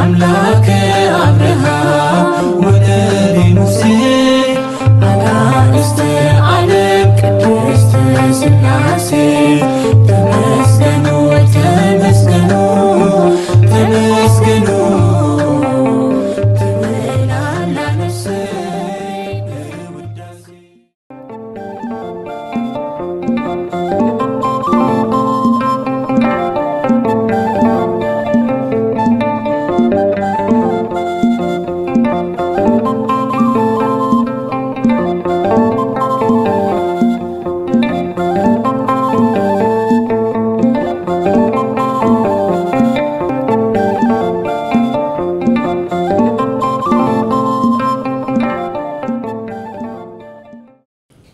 ኣምላከ ኣብርሃም ወደቤ ሙሴ ኣናእስተ ዓለም ቅድስት ሥላሴ ተመስገኑ ተመስገኑ ተመስገኑ ትብል ኣላ ነፍሰይ ብውዳሴ።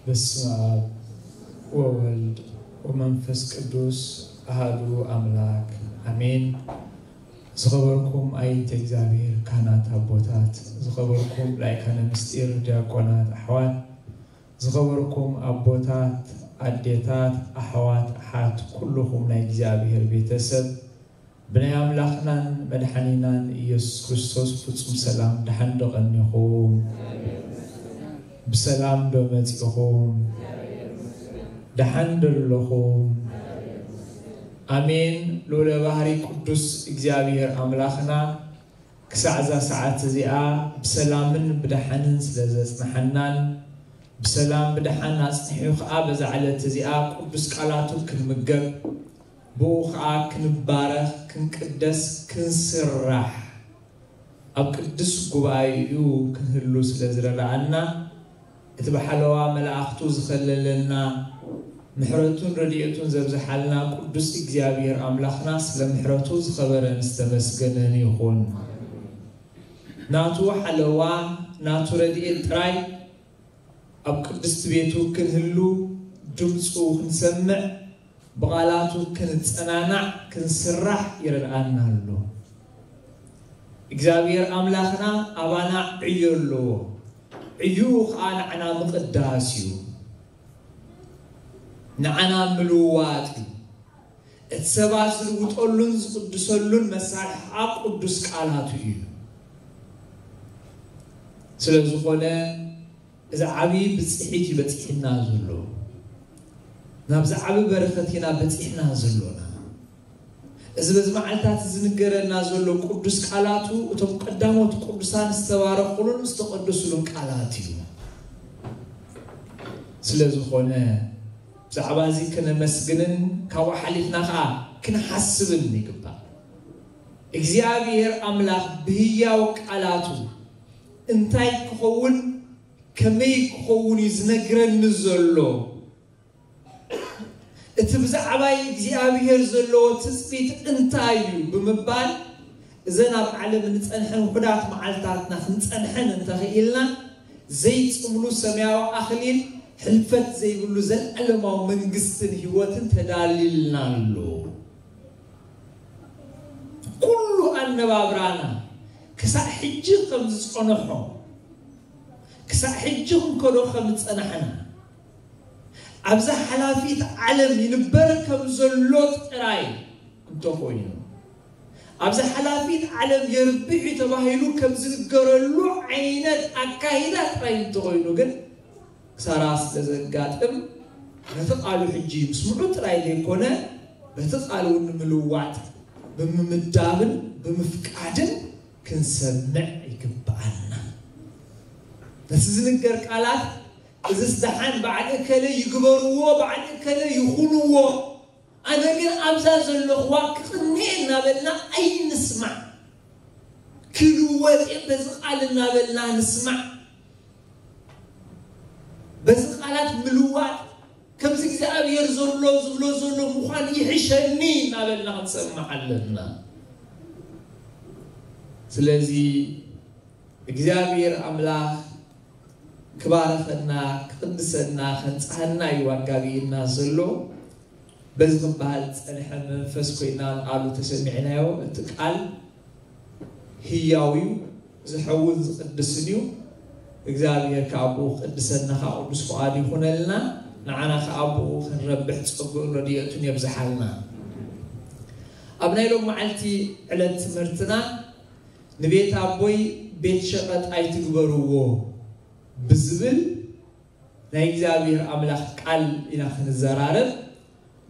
በስመ ኣብ ወወልድ ወመንፈስ ቅዱስ ኣሃዱ ኣምላክ ኣሜን። ዝኸበርኩም ኣይንተ እግዚኣብሔር ካህናት ኣቦታት፣ ዝኸበርኩም ላይካነ ምስጢር ዲያቆናት ኣሕዋት፣ ዝኸበርኩም ኣቦታት፣ ኣዴታት፣ ኣሕዋት፣ ኣሓት፣ ኩልኹም ናይ እግዚኣብሔር ቤተሰብ፣ ብናይ ኣምላኽናን መድሓኒናን ኢየሱስ ክርስቶስ ፍጹም ሰላም ደሓን ዶ ቀኒኹም? ብሰላም ዶ መጺኹም? ደሓን ዶ ኣለኹም? ኣሜን። ልዑለ ባህሪ ቅዱስ እግዚኣብሔር ኣምላኽና ክሳዕ እዛ ሰዓት እዚኣ ብሰላምን ብደሓንን ስለ ዘጽንሓናን ብሰላም ብደሓን ኣጽኒሑ ኸኣ በዛ ዕለት እዚኣ ቅዱስ ቃላቱ ክንምገብ ብኡ ኸኣ ክንባረኽ ክንቅደስ ክንስራሕ ኣብ ቅዱስ ጉባኤኡ ክንህሉ ስለ ዝረዳኣና እቲ ብሓለዋ መላእኽቱ ዝኸለለና ምሕረቱን ረድኤቱን ዘብዝሓልና ቅዱስ እግዚኣብሔር ኣምላኽና ስለ ምሕረቱ ዝኸበረን ዝተመስገነን ይኹን። ናቱ ሓለዋ ናቱ ረድኤት ጥራይ ኣብ ቅድስቲ ቤቱ ክንህሉ ድምፁ ክንሰምዕ ብቓላቱ ክንጸናናዕ ክንስራሕ ይረድኣና ኣሎ። እግዚኣብሔር ኣምላኽና ኣባና ዕዮ ኣለዎ። ዕዩ ኸዓ ንዓና ምቕዳስ እዩ። ንዓና ምልዋጥ እዩ። እቲ ሰባት ዝልውጠሉን ዝቕድሰሉን መሳርሒ ኸዓ ቅዱስ ቃላቱ እዩ። ስለ ዝኾነ እዚ ዓብዪ ብፅሒት እዩ በፂሕና ዘሎ። ናብዚ ዓብዪ በረኸት ኢና በፂሕና ዘሎና። እዚ በዚ መዓልታት ዝንገረና ዘሎ ቅዱስ ቃላቱ እቶም ቀዳሞት ቅዱሳን ዝተባረኹሉን ዝተቐደሱሉን ቃላት እዩ። ስለ ዝኾነ ብዛዕባ እዚ ክነመስግንን ካብኡ ሓሊፍና ኸዓ ክንሓስብን ይግባእ። እግዚኣብሔር ኣምላኽ ብህያው ቃላቱ እንታይ ክኸውን ከመይ ክኸውን እዩ ዝነግረኒ ዘሎ? እቲ ብዛዕባይ እግዚኣብሔር ዘለዎ ትጽቢት እንታይ እዩ ብምባል እዘን ኣብ ዓለም እንጸንሐን ውሑዳት መዓልታትና ክንጸንሐን እንተኽኢልና ዘይጽምሉ ሰማያዊ ኣኽሊል ሕልፈት ዘይብሉ ዘለዓለማዊ መንግስትን ህይወትን ተዳልልና ኣሎ። ኩሉ ኣነባብራና ክሳዕ ሕጂ ከም ዝጸንሖ ክሳዕ ሕጂ ክንከዶ ከም ዝጸናሕና ኣብዛ ሓላፊት ዓለም ይንበር ከም ዘሎ ጥራይ እንተኾይኑ ኣብዛ ሓላፊት ዓለም የርብሕ እዩ ተባሂሉ ከም ዝንገረሉ ዓይነት ኣካይዳ ጥራይ እንተኾይኑ ግን ክሳራ ስለ ዘጋጥም ነቲ ቃሉ ሕጂ ምስምዑ ጥራይ ዘይኮነ በቲ ቃሉ እውን ንምልዋጥ ብምምዳብን ብምፍቃድን ክንሰምዕ ይግብኣና። ነቲ ዝንገር ቃላት እዝስ ደሓን በዓል እከለ ይግበርዎ በዓል እከለ ይኹንዎ ኣነ ግን ኣብዛ ዘለኽዋ ክቕንየ እናበልና ኣይንስማዕ። ክልወጥ እየ በዚ ቃል እናበልና ንስማዕ። በዚ ቃላት ምልዋጥ ከምዚ እግዚኣብሔር ዘሎ ዝብሎ ዘሎ ምዃን ይሕሸኒ እናበልና ክንሰምዕ ኣለና። ስለዚ እግዚኣብሔር ኣምላኽ ክባርኸና ክቕድሰና ከንጽሃና እዩ ኣጋቢእና ዘሎ። በዚ ክበሃል ዝጸንሐ መንፈስ ኮይና ቃሉ ተሰሚዕናዮ። እቲ ቃል ህያው እዩ፣ ዝሐውን ዝቕድስን እዩ። እግዚኣብሔር ከዓ ብኡ ክቕድሰና ከዓ ቅዱስ ፍቓዱ ይኹነልና። ንዓና ከዓ ብኡ ክንረብሕ ጸግኡን ረድኤቱን የብዝሓልና። ኣብ ናይ ሎም መዓልቲ ዕለት ትምህርትና ንቤት ኣቦይ ቤት ሸቐጥ ኣይትግበርዎ ብዝብል ናይ እግዚኣብሔር ኣምላኽ ቃል ኢና ክንዘራረብ።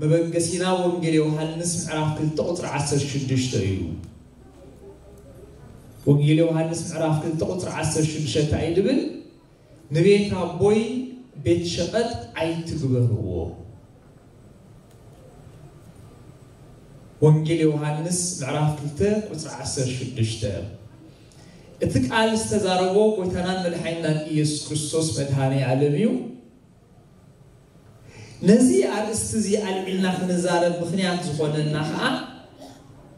መበገሲና ወንጌል ዮሃንስ ምዕራፍ ክልተ ቁፅሪ ዓሰርተ ሽዱሽተ እዩ። ወንጌል ዮሃንስ ምዕራፍ ክልተ ቁፅሪ ዓሰርተ ሽዱሽተ እንታይ እዩ ዝብል? ንቤት ኣቦይ ቤት ሸቐጥ ኣይትግበርዎ። ወንጌል ዮሃንስ ምዕራፍ ክልተ ቁፅሪ ዓሰርተ ሽዱሽተ። እቲ ቃል ዝተዛረቦ ጎይታናን መድሓኒናን ኢየሱስ ክርስቶስ መድሃኔ ዓለም እዩ። ነዚ ኣርእስቲ እዚ ኣልዒልና ክንዛረብ ምኽንያት ዝኾነና ኸዓ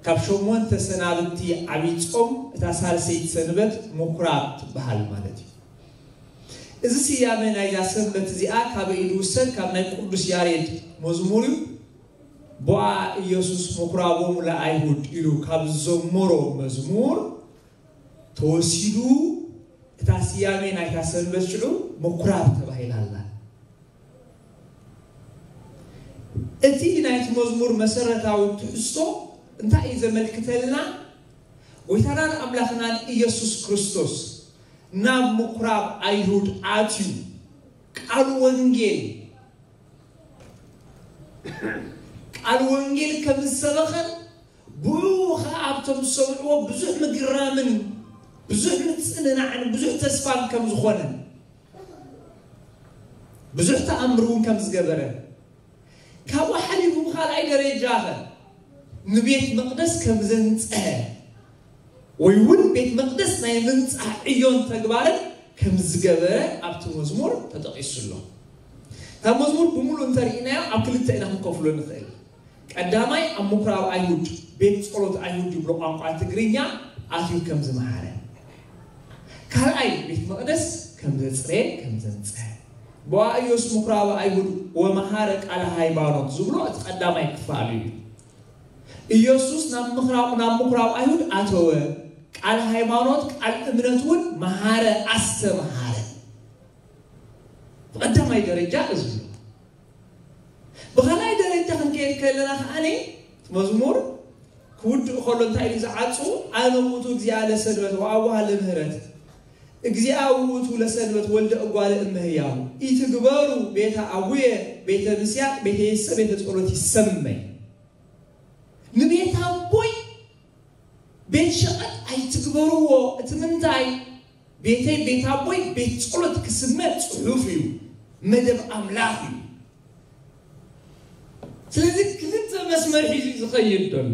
ካብ ሸሞንተ ሰናብቲ ዓብዪ ጾም እታ ሳልሰይቲ ሰንበት ምኩራብ ትበሃል ማለት እዩ። እዚ ስያመ ናይዛ ሰንበት እዚኣ ካበይ እዩ ዝውሰድ? ካብ ናይ ቅዱስ ያሬድ መዝሙር እዩ። ቦኣ ኢየሱስ ምኩራቦሙ ለኣይሁድ ኢሉ ካብ ዝዘመሮ መዝሙር ተወሲዱ እታ ስያሜ ናይታ ሰንበት ሽዑ ምኩራብ ተባሂላ ኣላ። እቲ ናይቲ መዝሙር መሰረታዊ ትሕዝቶ እንታይ እዩ ዘመልክተልና? ጎይታናን ኣምላኽናን ኢየሱስ ክርስቶስ ናብ ምኩራብ ኣይሁድ ኣትዩ ቃል ወንጌል ቃል ወንጌል ከም ዝሰበኸን ብኡ ኸዓ ኣብቶም ዝሰምዕዎ ብዙሕ ምግራምን ብዙሕ ምጽንናዕን ብዙሕ ተስፋን ከም ዝኾነ ብዙሕ ተኣምር እውን ከም ዝገበረ ካብኡ ሓሊፉ ብኻልኣይ ደረጃ ኸ ንቤት መቕደስ ከም ዘንጽሀ ወይ እውን ቤት መቕደስ ናይ ምንጻህ ዕዮን ተግባርን ከም ዝገበረ ኣብቲ መዝሙር ተጠቒሱ ኣሎ። እታ መዝሙር ብምሉእ እንተርኢናዮ ኣብ ክልተ ኢና ክንከፍሎ ንኽእል። ቀዳማይ ኣብ ምኩራብ ኣይሁድ ቤት ጸሎት ኣይሁድ ይብሎ ቋንቋ ትግርኛ ኣትዩ ከም ዝመሃረ፣ ካልኣይ ቤት መቕደስ ከም ዘጽረየ ከም ዘንጽሀ፣ ቦኣእዮስ ምኩራብ ኣይሁድ ወመሃረ ቃለ ሃይማኖት ዝብሎ እቲ ቀዳማይ ክፋሉ እዩ። ኢየሱስ ናብ ምኩራብ ናብ ምኩራብ ኣይሁድ ኣተወ፣ ቃል ሃይማኖት ቃል እምነት እውን መሃረ ኣስተምሃረ። ብቐዳማይ ደረጃ እዚ እዩ። ብኻልኣይ ደረጃ ክንከይድ ከለና ከዓኒ መዝሙር ክውድእ ከሎ እንታይ ኢሉ ዝዓጹ? ኣነ ውእቱ እግዚኣብሔር ለሰንበት ወአቡሃ ለምህረት፣ እግዚአ ውእቱ ለሰንበት ወልደ እጓለ እመሕያው፣ ኢትግበሩ ቤተ አቡየ ቤተ ምስያቅ ቤተ የሰ ቤተ ጸሎት ይሰመይ። ንቤት ኣቦይ ቤት ሸቐጥ ኣይትግበርዎ። እቲ ምንታይ? ቤተይ ቤት ኣቦይ ቤት ጸሎት ክስመ ጽሑፍ እዩ፣ መደብ ኣምላኽ እዩ። ስለዚ ክልተ መስመር ሒዙ እዩ ዝኸይድ ዘሎ።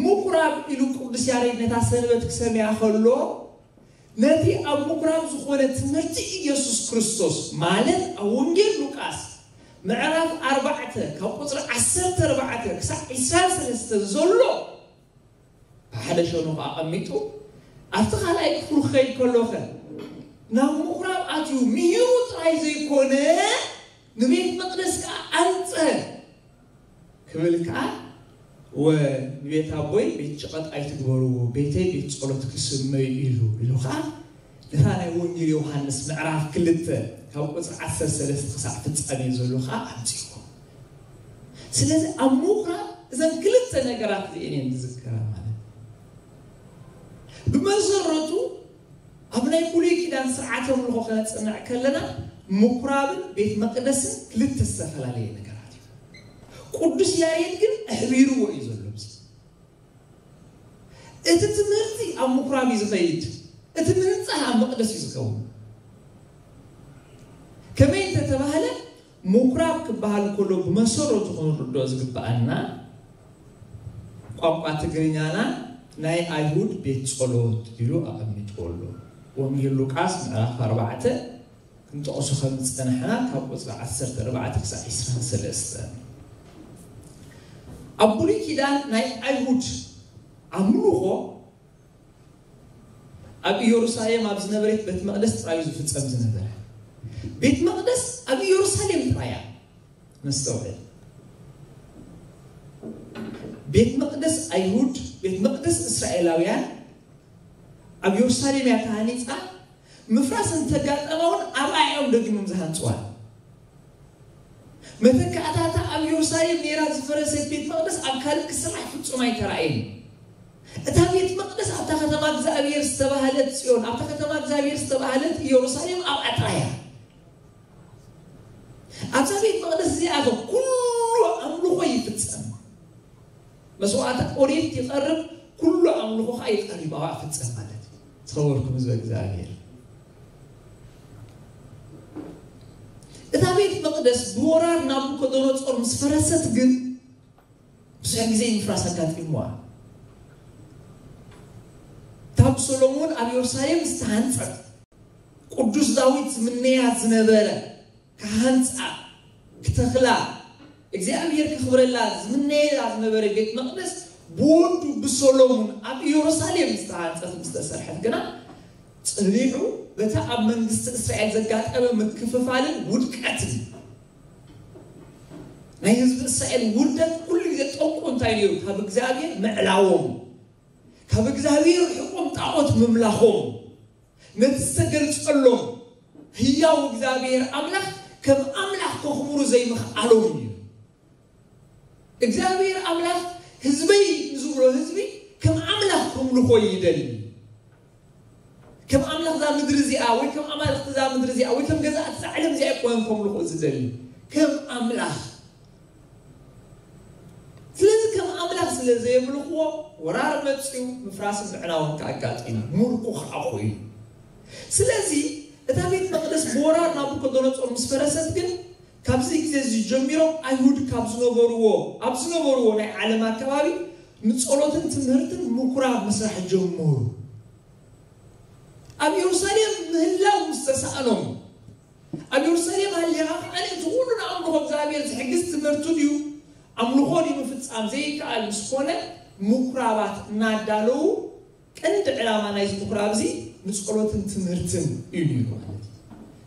ምኩራብ ኢሉ ቅዱስ ያሬድ ነታ ሰንበት ክሰምያ ከሎ ነቲ ኣብ ምኩራብ ዝኾነ ትምህርቲ ኢየሱስ ክርስቶስ ማለት ኣብ ወንጌል ሉቃስ ምዕራፍ ኣርባዕተ ካብ ቁፅሪ ዓሰርተ ኣርባዕተ ክሳዕ ዒስራን ሰለስተን ዘሎ ብሓደ ሸነኹ ኣቐሚጡ ኣብቲ ካልኣይ ክፍሉ ክኸይድ ከሎኸ ናብ ምኩራብ ኣትዩ ምሂሩ ጥራይ ዘይኮነ ንቤት መቕደስ ከዓ ኣንፀ ክብል ከዓ ወ ንቤት ኣቦይ ቤት ሸቐጥ ኣይትግበርዎ፣ ቤተይ ቤት ጸሎት ክስመ እዩ ኢሉ ኢሉ ከዓ ነታ ናይ ወንጌል ዮሃንስ ምዕራፍ ክልተ ካብ ቁፅሪ ዓሰርተ ሰለስተ ክሳዕ ፍጻሜ ዘሎ ከዓ ኣምፅዎ። ስለዚ ኣብ ምኹራብ እዘን ክልተ ነገራት እዚአን እየን ዝዝከራ ማለት ብመሰረቱ ኣብ ናይ ብሉይ ኪዳን ስርዓተ ኣምልኾ ከነፅንዕ ከለና ምኩራብን ቤት መቅደስን ክልተ ዝተፈላለየ ነገራት እዩ። ቅዱስ ያሬድ ግን ኣሕቢርዎ እዩ ዘሎ። እቲ ትምህርቲ ኣብ ምኩራብ እዩ ዝኸይድ፣ እቲ ምንፃህ ኣብ መቅደስ እዩ ዝኸውን። ከመይ እንተተባህለ ምኩራብ ክበሃል ከሎ ብመሰረቱ ክንርድኦ ዝግበኣና ቋንቋ ትግርኛና ናይ ኣይሁድ ቤት ጸሎት ኢሉ ኣቐሚጥዎ ኣሎ። ወንጌል ሉቃስ ምዕራፍ ኣርባዕተ ክንጠቕሶ ከም ዝጸናሕና ካብ ቁጽሪ ዓሰርተ ኣርባዕተ ክሳብ ዒስራን ሰለስተን። ኣብ ብሉይ ኪዳን ናይ ኣይሁድ ኣምልኾ ኣብ ኢየሩሳሌም ኣብ ዝነበረት ቤት መቕደስ ጥራይ እዩ ዝፍጸም ዝነበረ። ቤት መቕደስ ኣብ ኢየሩሳሌም ጥራይ እያ። ነስተውዕል። ቤት መቕደስ ኣይሁድ፣ ቤት መቕደስ እስራኤላውያን ኣብ ኢየሩሳሌም እያ ተሃኒፃ። ምፍራስ እንተጋጠማ እውን ኣብኣ እዮም ደጊሞም ዝሃንፅዋ። መተካእታታ ኣብ ኢየሩሳሌም ነይራ ዝፈረሰት ቤት መቕደስ ኣብ ካልእ ክስራሕ ፍጹም ኣይተራእየን። እታ ቤት መቕደስ ኣብታ ከተማ እግዚኣብሔር ዝተባህለት ጽዮን፣ ኣብታ ከተማ እግዚኣብሔር ዝተባህለት ኢየሩሳሌም ኣብኣ ጥራይ እያ። ኣብዛ ቤት መቕደስ እዚኣ ኸ ኩሉ ኣምልኾ ይፍጸም። መስዋዕቲ ኦሪት ይቐርብ፣ ኩሉ ኣምልኾ ኸዓ ይቐርብ፣ ኣብኣ ይፍጸም ማለት እዩ። ዝኸበርኩም ህዝበ እግዚኣብሔር፣ እታ ቤት መቕደስ ብወራር ናቡከደነጾር ምስ ፈረሰት ግን ብዙሕ ግዜ ምፍራስ ኣጋጢምዋ። እታ ብሰሎሞን ኣብ ኢየሩሳሌም ዝተሃንጸት፣ ቅዱስ ዳዊት ዝምነያ ዝነበረ፣ ክሃንጻ፣ ክተኽላ፣ እግዚኣብሔር ከኽብረላ ዝምነየላ ዝነበረ ቤት መቕደስ ብወዱ ብሰሎሞን ኣብ ኢየሩሳሌም ዝተሃንጸት ምስ ተሰርሐት ግና፣ ጸኒሑ በታ ኣብ መንግስቲ እስራኤል ዘጋጠመ ምክፍፋልን ውድቀትን፣ ናይ ህዝቢ እስራኤል ውርደት ኩሉ ግዜ ጠንቁ እንታይ ነይሩ? ካብ እግዚኣብሔር ምዕላዎም፣ ካብ እግዚኣብሔር ርሕቆም ጣዖት ምምላኾም፣ ነቲ ዝተገልጸሎም ህያው እግዚኣብሔር ኣምላኽ ከም ኣምላኽ ከኽብሩ ዘይምኽኣሎም እዩ። እግዚኣብሔር ኣምላኽ ህዝበይ ንዝብሎ ህዝቢ ከም ኣምላኽ ከምልኾ ይደሊ። ከም ኣምላኽ እዛ ምድሪ እዚኣ ወይ ከም ኣማልኽቲ እዛ ምድሪ እዚኣ ወይ ከም ገዛእቲ እዛ ዓለም እዚኣ ኣይኮነን ከምልኾ ዝደሊ፣ ከም ኣምላኽ። ስለዚ ከም ኣምላኽ ስለ ዘየምልኽዎ ወራር መጽዩ፣ ምፍራስን ምዕናውን ከኣጋጢሙ፣ ምርኮ ኸዓ ኮይኑ። ስለዚ እታ ቤት መቕደስ ብወራር ናቡከደነጾር ምስ ፈረሰት ግን ካብዚ ግዜ እዚ ጀሚሮም ኣይሁድ ካብ ዝነበርዎ ኣብ ዝነበርዎ ናይ ዓለም ኣከባቢ ንጸሎትን ትምህርትን ምኩራብ ምስራሕ ጀመሩ። ኣብ ኢየሩሳሌም ምህላው ምስ ተሳእኖም፣ ኣብ ኢየሩሳሌም ሃሊኻ ኸዓ እቲ ኩሉ ንኣምልኾ እግዚኣብሔር ዝሕግዝ ትምህርቲ ድዩ ኣምልኾ ድዩ ምፍጻም ዘይከኣል ምስ ኮነ፣ ምኩራባት እናዳለዉ፣ ቀንዲ ዕላማ ናይዚ ምኩራብ እዚ ንጸሎትን ትምህርትን እዩ ነይሩ ማለት እዩ።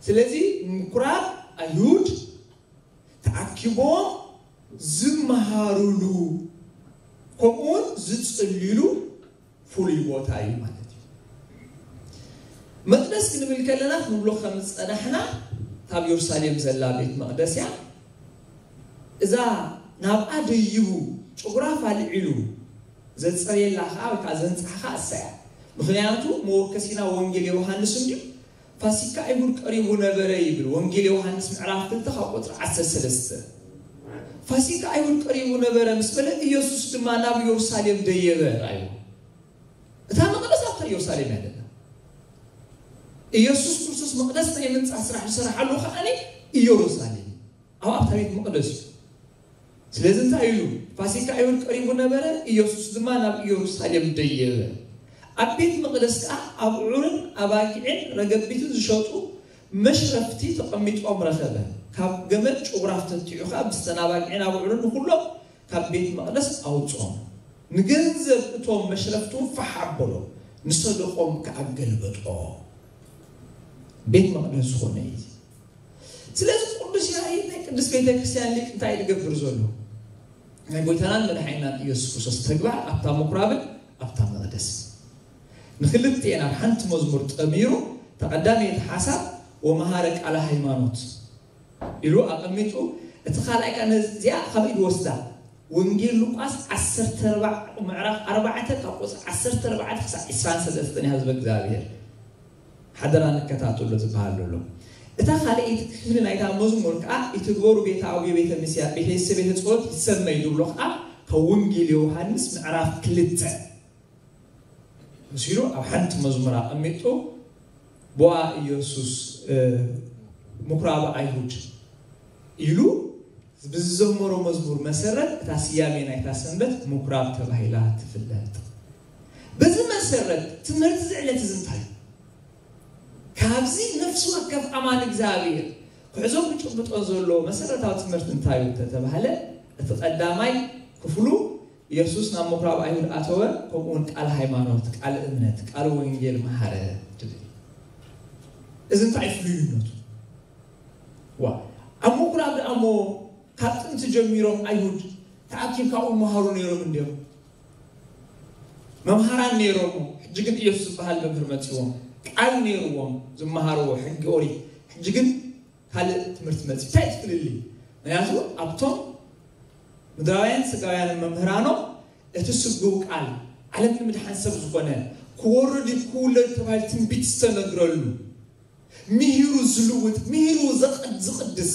ስለዚ ምኩራብ ኣይሁድ ተኣኪቦም ዝመሃሩሉ ከምኡውን ዝጽልዩሉ ፍሉይ ቦታ እዩ ማለት እዩ። መቅደስ ክንብል ከለና ክንብሎ ከም ዝጸናሕና፣ ካብ ኢየሩሳሌም ዘላ ቤት መቅደስ እያ። እዛ ናብኣ ደይቡ ጭጉራፍ ኣልዒሉ ዘጽረየላ ኸዓ ወይ ከዓ ዘንጽሓ ኸዓ እሳ እያ። ምኽንያቱ መወከሲና ወንጌል ዮሃንስ እንድዩ፣ ፋሲካ ኣይሁድ ቀሪቡ ነበረ ይብል ወንጌል ዮሃንስ ምዕራፍ ክልተ ካብ ቁጽሪ ዓሰርተ ሰለስተ። ፋሲካ ኣይሁድ ቀሪቡ ነበረ ምስ በለ፣ ኢየሱስ ድማ ናብ ኢየሩሳሌም ደየበ። ራእዩ እታ መቅደስ ኣብታ ኢየሩሳሌም እያ ዘላ። ኢየሱስ ክርስቶስ መቅደስ ናይ ምንጻህ ስራሕ ዝሰራሓሉ ከዓኒ ኢየሩሳሌም ኣብ ኣብታ ቤት መቅደስ እዩ። ስለዚ እንታይ ኢሉ? ፋሲካ ኣይሁድ ቀሪቡ ነበረ፣ ኢየሱስ ድማ ናብ ኢየሩሳሌም ደየበ። ኣብ ቤት መቅደስ ከኣ ኣብዑርን ኣባጊዕን ረገቢትን ዝሸጡ መሽረፍቲ ተቐሚጦም ረኸበ። ካብ ገመድ ጭጉራፍ ተንቲዑ ከኣ ብስተን ኣባጊዕን ኣብዑርን ንኹሎም ካብ ቤት መቅደስ ኣውጾም። ንገንዘብ እቶም መሽረፍቲ እውን ፋሕ ኣበሎ፣ ንሰደቆም ከኣ ገልበጦ። ቤት መቅደስ ዝኾነ እዩ። ስለዚ ቅዱስ ያሬድ ናይ ቅድስት ቤተ ክርስቲያን ሊቅ እንታይ ዝገብር ዘሎ? ናይ ጎይታናን መድሓኒናን ኢየሱስ ክርስቶስ ተግባር ኣብታ ምኩራብን ኣብታ መቅደስ ንክልቲኤን ኣብ ሓንቲ መዝሙር ጠሚሩ፣ ተቐዳመይቲ ሓሳብ ወመሃረ ቃለ ሃይማኖት ኢሉ ኣቐሚጡ፣ እቲ ካልኣይ ከኣ ነዚኣ ካበይ ዝወስዳ? ወንጌል ሉቃስ ዓሰርተ ኣርባዕተ ምዕራፍ ኣርባዕተ ካብ ቁጽሪ ዓሰርተ ኣርባዕተ ክሳዕ ዕስራን ሰለስተን እያ ህዝበ እግዚኣብሔር። ሓደራ ንከታተሎ ዝበሃል ዘሎ። እታ ካልኣይቲ ክፍሊ ናይታ መዝሙር ከኣ ይትግበሩ ቤተ ኣቡየ ቤተ ምስያ ቤተ ቤተ ጸሎት ይሰመይ ዝብሎ ከኣ ካብ ወንጌል ዮሃንስ ምዕራፍ ክልተ መሲሉ ኣብ ሓንቲ መዝሙር ኣቐሚጡ፣ ቦኣ ኢየሱስ ምኩራብ ኣይሁድ ኢሉ ብዝዘመሮ መዝሙር መሰረት እታ ስያሜ ናይታ ሰንበት ምኩራብ ተባሂላ ትፍለጥ። በዚ መሰረት ትምህርቲ እዚ ዕለት እዚ እንታይ እዩ? ካብዚ ነፍሲ ወከፍ ኣማኒ እግዚኣብሔር ክሕዞ ክጭብጦ ዘለዎ መሰረታዊ ትምህርቲ እንታይ እዩ እንተተባህለ፣ እቲ ቀዳማይ ክፍሉ ኢየሱስ ናብ ምኩራብ ኣይሁድ ኣተወ፣ ከምኡውን ቃል ሃይማኖት፣ ቃል እምነት፣ ቃል ወንጌል መሃረ ትብል። እዚ እንታይ ፍሉይነቱ? ዋ፣ ኣብ ምኩራብ ደኣ እሞ ካብ ጥንቲ ጀሚሮም ኣይሁድ ተኣኪብ ካብኡ መሃሩ ነይሮም እንድዮም። መምሃራን ነይሮም። ሕጂ ግን ኢየሱስ ዝበሃል መምህር መጺዎም። ቃል ነይርዎም ዝመሃርዎ ሕጊ ኦሪት። ሕጂ ግን ካልእ ትምህርቲ መጺኡ። እንታይ እቲ ፍልልይ? ምክንያቱ ኣብቶም ምድራውያን ስጋውያንን መምህራኖም እቲ ስግው ቃል ዓለም ንምድሓን ሰብ ዝኾነ ክወርድ እዩ፣ ክውለድ ተባሂሉ ትንቢት ዝተነግረሉ፣ ምሂሩ ዝልውጥ፣ ምሂሩ ዘቐድ-፣ ዝቕድስ፣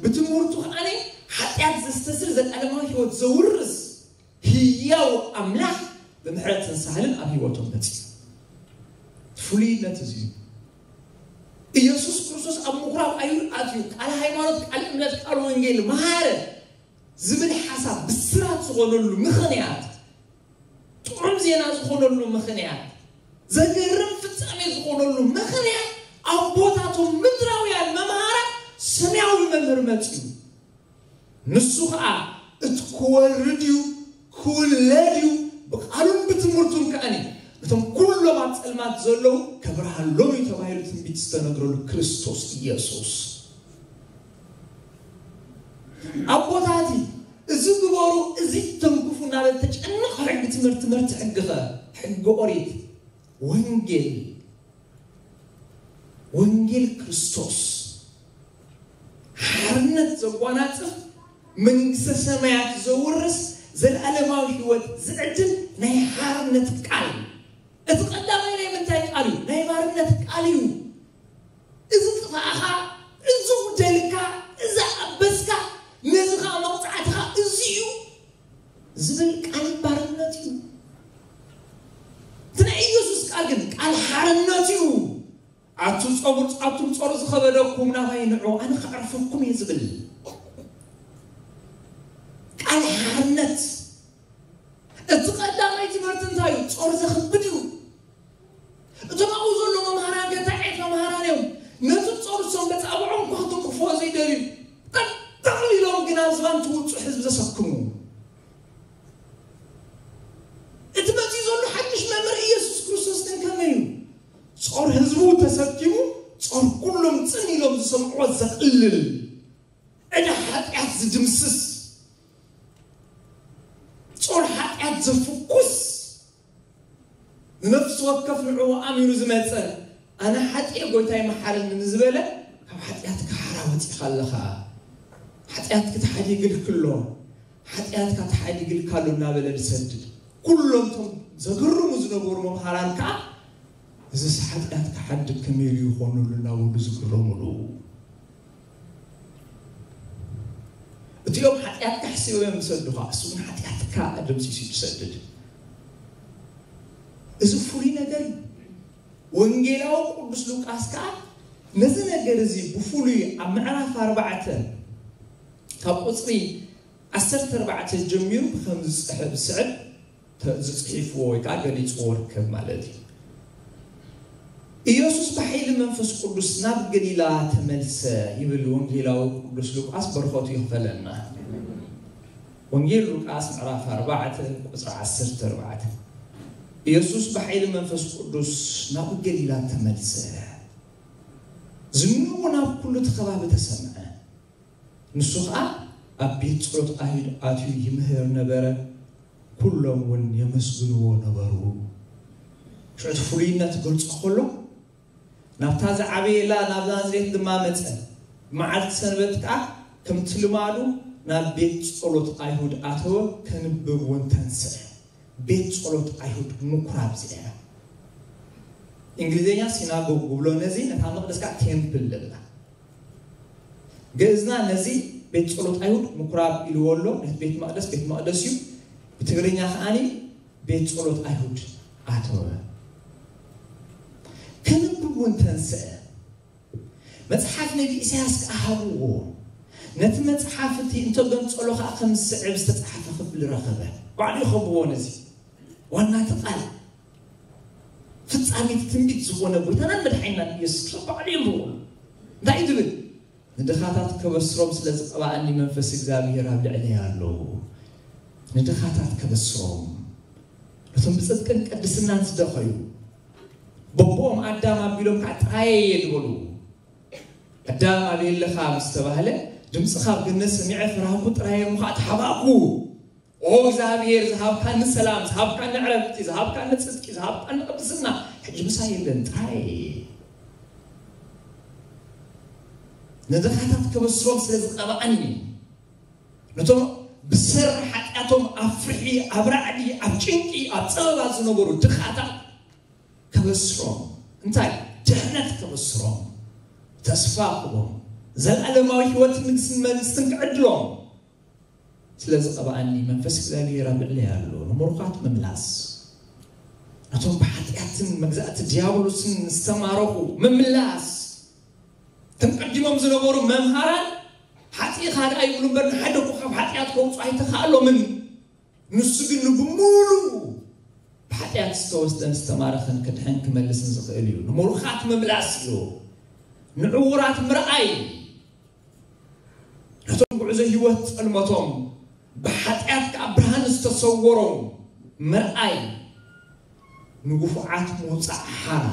ብትምህርቱ ከዓኒ ሓጢኣት ዘስተስር፣ ዘላለማዊ ህይወት ዘውርስ ህያው ኣምላኽ ብምሕረትን ሳህልን ኣብ ህይወቶም መጺኡ። ፍሉይነት እዚ እዩ። ኢየሱስ ክርስቶስ ኣብ ምኩራብ ኣይሁድ ኣትዩ፣ ቃል ሃይማኖት፣ ቃል እምነት፣ ቃል ወንጌል መሃረ ዝብል ሓሳብ ብስራት ዝኾነሉ ምኽንያት፣ ጥዑም ዜና ዝኾነሉ ምኽንያት፣ ዘገርም ፍጻሜ ዝኾነሉ ምኽንያት፣ ኣቦታቶም ምድራውያን መምሃራን ሰማያዊ መምህር መጺኡ። ንሱ ኸኣ እቲ ክወርድ እዩ፣ ክውለድ እዩ፣ ብቃሉን ብትምህርቱን ከኣኒ ነቶም ኩሎም ኣብ ጸልማት ዘለዉ ከብርሃሎም እዩ ተባሂሉ ትንቢት ዝተነግረሉ ክርስቶስ ኢየሱስ። ኣቦታቲ እዚ ግበሩ፣ እዚ ተንክፉ እናበለ ተጨንቕ ሕጊ ትምህርቲ፣ ትምህርቲ ሕጊኸ፣ ሕጊ ኦሪት፣ ወንጌል፣ ወንጌል ክርስቶስ ሓርነት ዘጓናጽፍ፣ መንግስተ ሰማያት ዘውርስ፣ ዘለኣለማዊ ህይወት ዝዕድል ናይ ሓርነት ቃል። እቲ ቀዳማይ ናይ ምንታይ ቃል እዩ? ናይ ባርነት ቃል እዩ። እዚ ጥፋእኻ፣ እዚ ጉደልካ፣ እዚ ኣበስካ፣ ነዚ ኸኣ መቕጻዕትኻ እዚ እዩ ዝብል ቃል ባርነት እዩ። እቲ ናይ ኢየሱስ ቃል ግን ቃል ሓርነት እዩ። ኣቱ ጸጉር፣ ኣቱም ጾር ዝኸበደኩም ናባይ ንዑ፣ ኣነ ከዕርፈኩም እየ ዝብል ቃል ሓርነት። እቲ ቀዳማይ ትምህርቲ እንታይ እዩ? ጾር ዘኽብድ እዩ። እቶም ኣብኡ ዘለዉ መምሃራን ገታዔት መምሃራን እዮም። ነቲ ጾር እሶም ገጻብዖም እኳ ክትንክፍዎ ዘይደልዩ፣ ጠቕጠቕ ኢሎም ግን ኣብ ዝባን ትውጹ ህዝቢ ዘሰክሙ። እቲ መጺኡ ዘሎ ሓድሽ መምህር ኢየሱስ ክርስቶስ ግን ከመይ እዩ? ጾር ህዝቡ ተሰኪሙ፣ ጾር ኩሎም ጽን ኢሎም ዝሰምዕዎ ዘቕልል፣ ዕዳ ሓጢኣት ዝድምስስ፣ ጾር ሓጢኣት ዘፍኩስ፣ ንነፍሲ ወከፍ ንዕኡ ኣሚኑ ዝመጸ፣ ኣነ ሓጢኤ ጎይታይ መሓረኒ ንዝበለ፣ ካብ ሓጢኣትካ ሓራ ወጺኻ ኣለኻ። ሓጢኣትኪ ተሓዲግልኪ ኣሎ፣ ሓጢኣትካ ተሓዲግልካ ኣሎ እናበለ ዝሰድድ። ኩሎም እቶም ዘግርሙ ዝነበሩ መምሃራን ከኣ፣ እዚስ ሓጢኣትካ ሓድግ ከመይ ኢሉ ይኾነሉ እናበሉ ዝግረሙሉ። እቲኦም ሓጢኣትካ ሕሲቦም እዮም ዝሰዱኻ፣ እሱ ግን ሓጢኣትካ ኣደምሲሱ እዩ ዝሰድድ። እዚ ፍሉይ ነገር እዩ። ወንጌላዊ ቅዱስ ሉቃስ ከኣ ነዚ ነገር እዚ ብፍሉይ ኣብ ምዕራፍ ኣርባዕተ ካብ ቁጽሪ ዓሰርተ ኣርባዕተ ጀሚሩ ብኸም ዝጽሕፍ ዝስዕብ ተ-፣ ዝጽሒፍዎ ወይ ከኣ ገሊጽዎ ርከብ ማለት እዩ። ኢየሱስ ብሓይሊ መንፈስ ቅዱስ ናብ ገሊላ ተመልሰ ይብል ወንጌላዊ ቅዱስ ሉቃስ፣ በረኸቱ ይኽፈለና። ወንጌል ሉቃስ ምዕራፍ ኣርባዕተ ቁጽሪ ዓሰርተ ኣርባዕተ። ኢየሱስ ብሓይሊ መንፈስ ቅዱስ ናብ ገሊላ ተመልሰ። ዝንኡ ናብ ኩሉ እቲ ከባቢ ተሰምዐ። ንሱ ኸኣ ኣብ ቤት ጸሎት ኣይሁድ ኣትዩ ይምህር ነበረ፣ ኩሎም እውን የመስግንዎ ነበሩ። ሽዑ እቲ ፍሉይነት ክገልጾ ከሎ፣ ናብታ ዝዓበየላ ናብ ናዝሬት ድማ መጸ። መዓልቲ ሰንበት ከኣ ከምቲ ልማዱ ናብ ቤት ጸሎት ኣይሁድ ኣተወ፣ ከንብብ እውን ተንስአ። ቤት ጸሎት ኣይሁድ ምኩራብ እዚኣ እያ። እንግሊዝኛ ሲናጎግ ክብሎ ነዚ፣ ነታ መቕደስ ከኣ ቴምፕል ንብላ። ግእዝና ነዚ ቤት ጸሎት ኣይሁድ ምኩራብ ኢልዎ ኣሎ። ነቲ ቤት መቕደስ ቤት መቕደስ እዩ። ብትግርኛ ከኣኒ ቤት ጸሎት ኣይሁድ ኣተወ። ከንብብ እውን ተንስአ። መጽሓፍ ነቢ ኢሳያስ ከኣ ሃብዎ። ነቲ መጽሓፍ እቲ እንተገንጸሎ ከኣ ከም ዝስዕብ ዝተጻሕፈ ክፍሊ ረኸበ። ባዕሉ ይኸብዎ ነዚ። ዋና እቲ ቃል ፍጻሜ ትንቢት ዝኾነ ጎይታናን መድሓኒናን ኢየሱስ ክርስቶስ ባዕሉ የንብቦ። እንታይ እዩ ዝብል? "ንድኻታት ከበስሮም ስለ ዝቐባኣኒ መንፈስ እግዚኣብሔር ኣብ ልዕለይ ኣሎ። ንድኻታት ከበስሮም፣ ነቶም ብጽድቅን ቅድስናን ዝደኸዩ፣ በቦኦም ኣዳም ኣቢሎም ከዓ ጥራየ እየ ዝበሉ። ኣዳም ኣበይ ኣለኻ ምስ ተባህለ፣ ድምፅኻ ኣብ ገነት ሰሚዐ ፈራህኩ ጥራየ እሞ ከዓ ተሓባእኩ። ኦ እግዚኣብሔር፣ ዝሃብካኒ ሰላም፣ ዝሃብካኒ ዕረፍቲ፣ ዝሃብካኒ ጽድቂ፣ ዝሃብካኒ ቅድስና፣ ሕጂ ምሳይ የለን፣ ጥራይ ንድኻታት ከበስሮም ስለ ዝቐብኣኒ፣ ነቶም ብሰሪ ሓጢኣት እቶም ኣብ ፍርሒ፣ ኣብ ራዕዲ፣ ኣብ ጭንቂ፣ ኣብ ጸበባ ዝነበሩ ድኻታት ከበስሮም፣ እንታይ? ድሕነት ከበስሮም፣ ተስፋ ክቦም፣ ዘለኣለማዊ ህይወትን ንግስን መንግስትን ክዕድሎም ስለ ዝቐብኣኒ መንፈስ እግዚኣብሔር ኣብ ልዕለይ ኣሎ። ንምሩኻት ምምላስ፣ ነቶም ብሓጢኣትን መግዛእቲ ዲያብሎስን ዝተማረኹ ምምላስ። እቶም ቀዲሞም ዝነበሩ መምሃራን ሓጢእኻ ደኣ ይብሉ እምበር ንሓደ እኮ ካብ ሓጢኣት ከውፅኡ ኣይተኻእሎምን። ንሱ ግን ንብሙሉ ብሓጢኣት ዝተወስደን ዝተማረኸን ክድሕን ክመልስን ዝኽእል እዩ። ንምሩኻት ምምላስ እዩ። ንዕዉራት ምርኣይ፣ ነቶም ጉዕዞ ህይወት ጸልመቶም ብሓጢኣት ከኣ ብርሃን ዝተሰወሮም ምርኣይ፣ ንግፉዓት ምውጻእ ሓራ፣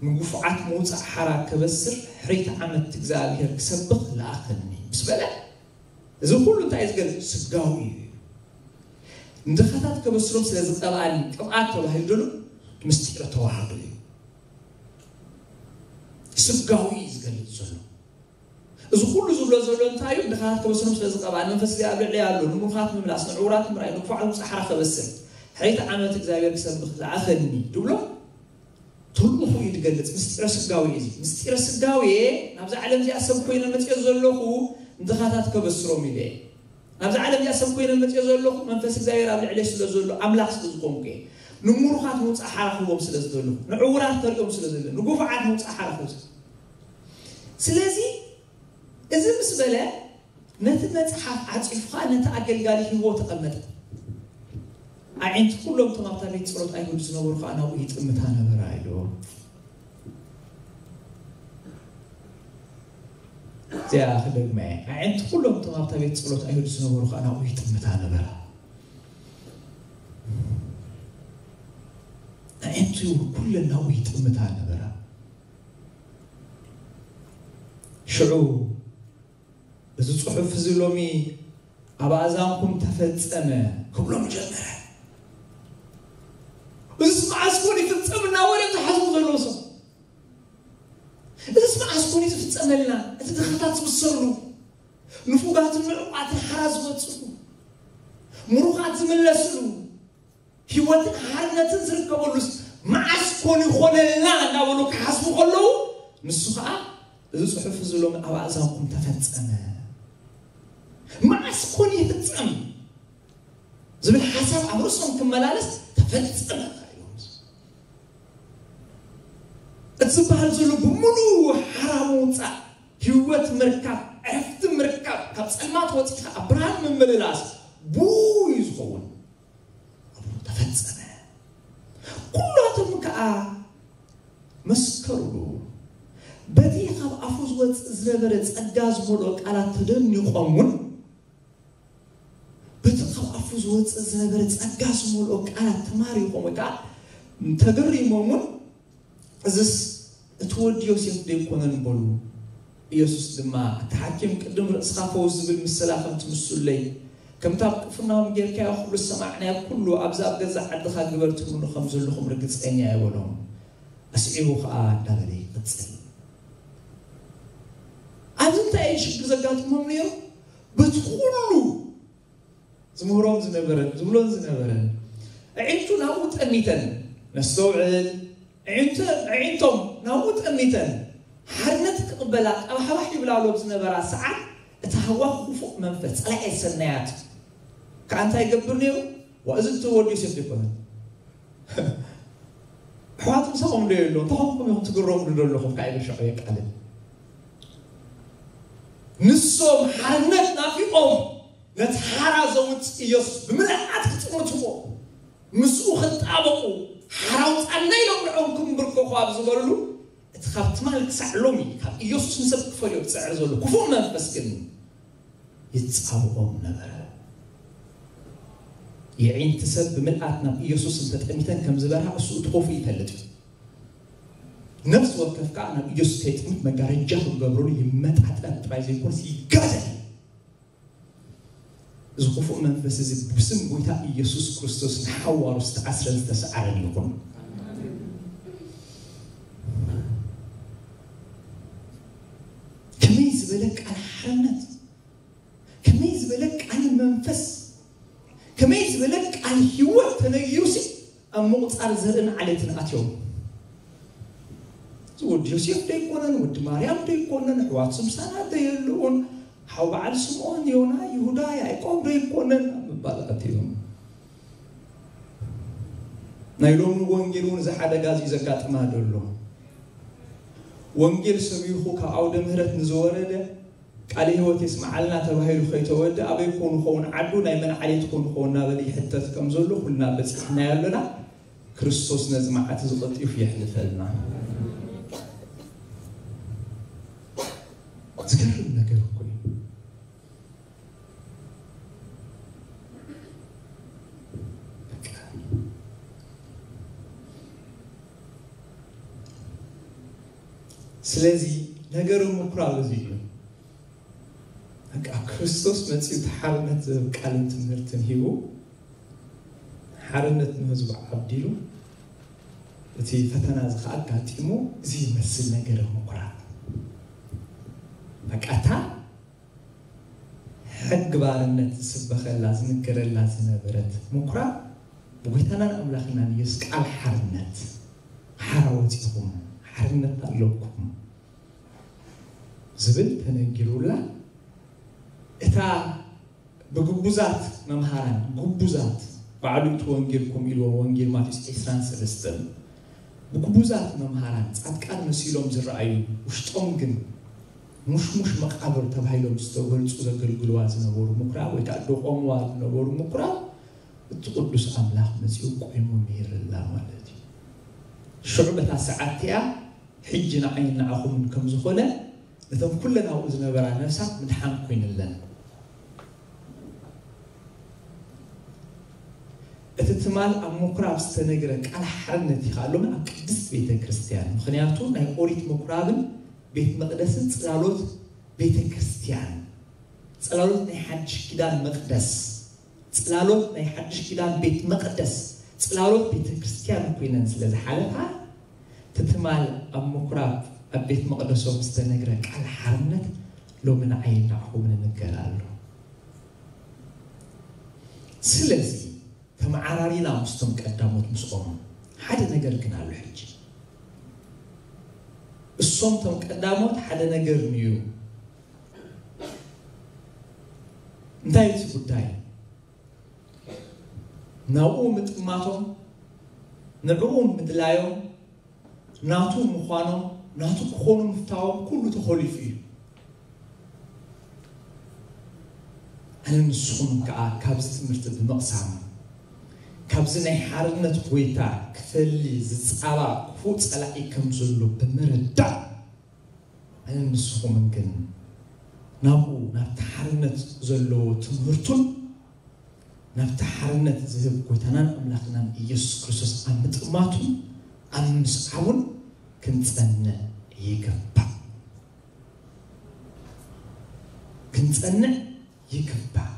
ንግፉዓት ምውጻእ ሓራ ከበስር ሕሪት ዓመት እግዚኣብሔር ክሰብኽ ለኣኸኒ ምስ በለ፣ እዚ ኩሉ እንታይ እዩ ዝገልጽ? ስጋዊ እዩ። ንድኻታት ከበስሮም ስለ ዝቀብኣኒ ቅብኣት ተባሂሉ ዘሎ ምስጢረ ተዋህዶ እዩ። ስጋዊ እዩ ዝገልጽ ዘሎ። እዚ ኩሉ ዝብሎ ዘሎ እንታይ እዩ? ድኻታት ከበስሮም ስለ ዝቀብኣኒ መንፈስ እግዚኣብሔር ኣብ ልዕለይ ኣሎ። ንምሩኻት ምምላስ፣ ንዕዉራት ምርኣይ፣ ንግፉዓት ምውጻእ ሓራ ከበስር ሕሪት ዓመት እግዚኣብሔር ክሰብኽ ለኣኸኒ ድብሎ ተልእኹ እዩ ዝገልጽ። ምስጢረ ስጋዌ እዩ። ምስጢረ ስጋዌ ናብዛ ዓለም እዚኣ ሰብ ኮይነ መጽኦ ዘለኹ ንድኻታት ከበስሮም ኢለ እየ። ናብዛ ዓለም እዚኣ ሰብ ኮይነ መጽኦ ዘለኹ መንፈስ እግዚኣብሔር ኣብ ልዕለይ ስለ ዘሎ ኣምላኽ ስለ ዝኾንኩ እየ። ንምሩኻት ምውጻእ ሓራ ክህቦም ስለ ዝደለኹ፣ ንዕዉራት ከርእዮም ስለ ዝደለ፣ ንጉፉዓት ምውጻእ ሓራ ክህቦም ስለ-፣ ስለዚ እዚ ምስ በለ ነቲ መጽሓፍ ዓጺፉ ኸኣ ነቲ ኣገልጋሊ ሂብዎ ተቐመጠ። ኣዒንቲ ኩሎም እቶም ኣብታ ቤት ጸሎት ኣይሁድ ዝነበሩ ኸኣ ናብኡ ይጥምታ ነበራ ኢሉ። እዚኣ ክደግማ እየ። ኣዒንቲ ኩሎም እቶም ኣብታ ቤት ጸሎት ኣይሁድ ዝነበሩ ኸኣ ናብኡ ይጥምታ ነበራ። ኣዒንቱ ኩለን ናብኡ ይጥምታ ነበራ። ሽዑ እዚ ጽሑፍ እዚ ሎሚ ኣብ ኣእዛንኩም ተፈጸመ ክብሎም ጀመረ። እዚስ መዓስ ኮን ይፍጸም እናበለ ዝሓስቡ ዘለዉ ሰብ፣ እዚስ መዓስ ኮን እዩ ዝፍጸመልና? እቲ ድኻታት ዝብሰሉ፣ ንፉጋትን ንዕቋትን ሓራ ዝወጽኡ፣ ምሩኻት ዝምለስሉ፣ ህይወትን ሓርነትን ዝርከበሉስ መዓስ ኮን ይኾነልና እናበሉ ክሓስቡ ከለዉ፣ ንሱ ኸዓ እዚ ጽሑፍ እዚ ሎሚ ኣብ ኣእዛንኩም ተፈጸመ። መዓስ ኮን ይፍጸም ዝብል ሓሳብ ኣብ ርእሶም ክመላለስ ተፈጸመ ኢሎም። እቲ ዝበሃል ዘሎ ብምሉኡ ሓራ ምውጻእ፣ ህይወት ምርካብ፣ ዕረፍቲ ምርካብ፣ ካብ ጸልማት ወጺኻ ኣብ ብርሃን ምምልላስ ብኡ እዩ ዝኸውን። ተፈጸመ። ኩላቶም ከኣ መስከሩሉ። በቲ ካብ ኣፉ ዝወጽእ ዝነበረ ጸጋ ዝመልኦ ቃላት ተደኒቖም እውን፣ በቲ ካብ ኣፉ ዝወጽእ ዝነበረ ጸጋ ዝመልኦ ቃላት ተማሪኾም ወይ ከኣ ተገሪሞም እውን፣ እዝስ እቲ ወዲ ዮሴፍ ዶ ኣይኮነን በሉ። ኢየሱስ ድማ፣ እቲ ሓኪም ቅድም ርእስኻ ፈውስ ዝብል ምስላ ከም ትምስሉለይ፣ ከምቲ ኣብ ቅፍርናሆም ጌርካዮ ኩሉ ዝሰማዕናዮ ኩሉ ኣብዚ ኣብ ገዛእ ዓድኻ ግበር ትብሉኒ ከም ዘለኹም ርግጸኛ እየ በሎም። ኣስዒቡ ኸኣ እንዳበለ ይቕጽል። ኣብዚ እንታይ እዩ ሽግር ዘጋጥሞም ነይሩ? በቲ ኩሉ ዝምህሮም ዝነበረን ዝብሎን ዝነበረን፣ ኣዒንቱ ናብኡ ጠሚተን፣ ነስተውዕል፣ ኣዒንቱ-፣ ኣዒንቶም ናብኡ ጠሚተን፣ ሓርነት ክቕበላ ቀባሕባሕ ይብላሉ ኣብ ዝነበራ ሰዓት፣ እቲ ሃዋኽ ክፉእ መንፈስ፣ ጸላኤ ሰናያት፣ ከኣ እንታይ ይገብር ነይሩ? ዋ፣ እዚ እቲ ወዲ ዮሴፍ ዘይኮነን? ኣሕዋት ምሳኹም ዶ የሎ? እንታይ ኾንኩም ኢኹም ትግረሙሉ ዘለኹም? ካብ ኢሉ ሸዑ የቃልል። ንሶም ሓርነት ናፊቖም፣ ነቲ ሓራ ዘውጽእ ኢየሱስ ብምልኣት ክጥምትዎ፣ ምስኡ ክጣበቑ፣ ሓራ ኣውጻና ኢሎም ንዕኦም ክምብርከኹ ኣብ ዝበልሉ፣ እቲ ካብ ትማል ክሳዕ ሎሚ ካብ ኢየሱስ ንሰብ ክፈልዮ ዝጽዕር ዘሎ ክፉእ መንፈስ ግን ይጻብኦም ነበረ። የዒንቲ ሰብ ብምልኣት ናብ ኢየሱስ እንተጠሚተን ከም ዝበርሃ እሱ እቲ ኮፉ ይፈልጥ እዩ። ነፍሲ ወከፍ ከኣ ናብ ኢየሱስ ከይጥምት መጋረጃ ክገብረሉ ይመጣጠን ጥራይ ዘይኮነስ ይጋደል። እዚ ክፉእ መንፈስ እዚ ብስም ጎይታ ኢየሱስ ክርስቶስ ንሓዋሩ ዝተኣስረን ዝተሰዓረን ይኹን። ከመይ ዝበለ ቃል ሓርነት፣ ከመይ ዝበለ ቃል መንፈስ፣ ከመይ ዝበለ ቃል ህይወት ተነጊሩሲ ኣብ ምቑጻር ዘርእን ዓሌትን ኣትዮም። እዚ ወዲ ዮሴፍ ዶ ይኮነን? ወዲ ማርያም ዶ ይኮነን? ኣሕዋት ስምሳና ዶ የለውን? ሓው በዓል ስምዖን፣ ዮና፣ ይሁዳ፣ ያዕቆብ ዶ ይኮነን? ኣብ ምባል ኣትዮም። ናይ ሎሚ ወንጌል እውን እዚ ሓደጋ እዚ ዘጋጥማ ዘሎ። ወንጌል ሰቢኹ ካብ ዓውደ ምህረት ንዝወረደ ቃለ ህይወት የስምዓልና ተባሂሉ ከይተወደ ኣበይ ኮን ኸውን ዓዱ ናይ መን ዓሌት ኮን ኸውን እናበለ ይሕተት ከም ዘሎ ኩልና በፂሕናዮ ኣለና። ክርስቶስ ነዚ መዓት እዚ ቀልጢፉ የሕልፈልና። ዝገርም ነገር እኮ እዩ። በቃ። ስለዚ ነገር ምኩራብ እዚ እዩ። በቃ ክርስቶስ መጺኡ እቲ ሓርነት ዝህብ ቃልን ትምህርትን ሂቡ፣ ሓርነት ንህዝቡ ዓብዲሉ፣ እቲ ፈተና እዚ ከኣ ኣጋጢሙ፣ እዚ ይመስል ነገር ምኩራብ። በቃ እታ ሕጊ ባርነት ዝስበኸላ ዝንገረላ ዝነበረት ምኩራብ ብጎይታናን ኣምላኽናን ኢየሱስ ቃል ሓርነት ሓራ ወፂኹም ሓርነት ኣለኩም ዝብል ተነጊሩላ። እታ ብግቡዛት መምሃራን፣ ግቡዛት፣ ባዕሉ እቲ ወንጌል ከምኡ ኢልዎ፣ ወንጌል ማቴዎስ ዕስራን ሰለስተን፣ ብግቡዛት መምሃራን ጻድቃን መሲሎም ዝረኣዩ፣ ውሽጦም ግን ሙሽሙሽ መቃብር ተባሂሎም ዝተገልጹ ዘገልግልዋ ዝነበሩ ምኩራብ ወይ ከዓ ደቆምዋ ዝነበሩ ምኩራብ እቲ ቅዱስ ኣምላኽ መጺኡ ቆይሙ ምሂርላ ማለት እዩ። ሽዑ በታ ሰዓት እቲኣ ሕጂ ንዓይን ንዓኹምን ከም ዝኾነ ነተን ኩለን ኣብኡ ዝነበራ ነፍሳት ምድሓን ኮይንለን። እቲ ትማል ኣብ ምኩራብ ዝተነግረ ቃል ሓርነት እዩ ከኣ ሎሚ ኣብ ቅድስት ቤተ ክርስቲያን። ምኽንያቱ ናይ ኦሪት ምኩራብን ቤት መቕደስን ጽላሎት ቤተ ክርስቲያን፣ ጽላሎት ናይ ሓድሽ ኪዳን መቕደስ፣ ጽላሎት ናይ ሓድሽ ኪዳን ቤት መቕደስ፣ ጽላሎት ቤተ ክርስቲያን ኮይነን ስለ ዝሓለፋ፣ እቲ ትማል ኣብ ምኩራብ ኣብ ቤት መቕደሶም ዝተነግረ ቃል ሓርነት ሎሚ ንዓይን ንዓኹምን ይንገር ኣሎ። ስለዚ ተመዓራሪና ምስቶም ቀዳሞት ምስኦም ሓደ ነገር ግን ኣሎ። ሕጂ እሶም ቶም ቀዳሞት ሓደ ነገር ንዩ። እንታይ እቲ ጉዳይ? ናብኡ ምጥማቶም፣ ንዕኡ ምድላዮም፣ ናቱ ምዃኖም፣ ናቱ ክኾኑ ምፍታዎም ኩሉ ተኾሊፉ እዩ። ኣነ ንስኹም ከዓ ካብዚ ትምህርቲ ብምቕሳም፣ ካብዚ ናይ ሓርነት ጎይታ ክፈሊ ዝጻባ ክፉእ ጸላኢ ከም ዘሎ ብምርዳእ፣ ኣነ ንስኹምን ግን ናብኡ፣ ናብቲ ሓርነት ዘለዎ ትምህርቱን ናብቲ ሓርነት ዝህብ ጎይታናን ኣምላኽናን ኢየሱስ ክርስቶስ ኣብ ምጥማቱን ኣብ ምስዓቡን ክንጸንዕ ይግባእ። ክንጸንዕ ይግባእ።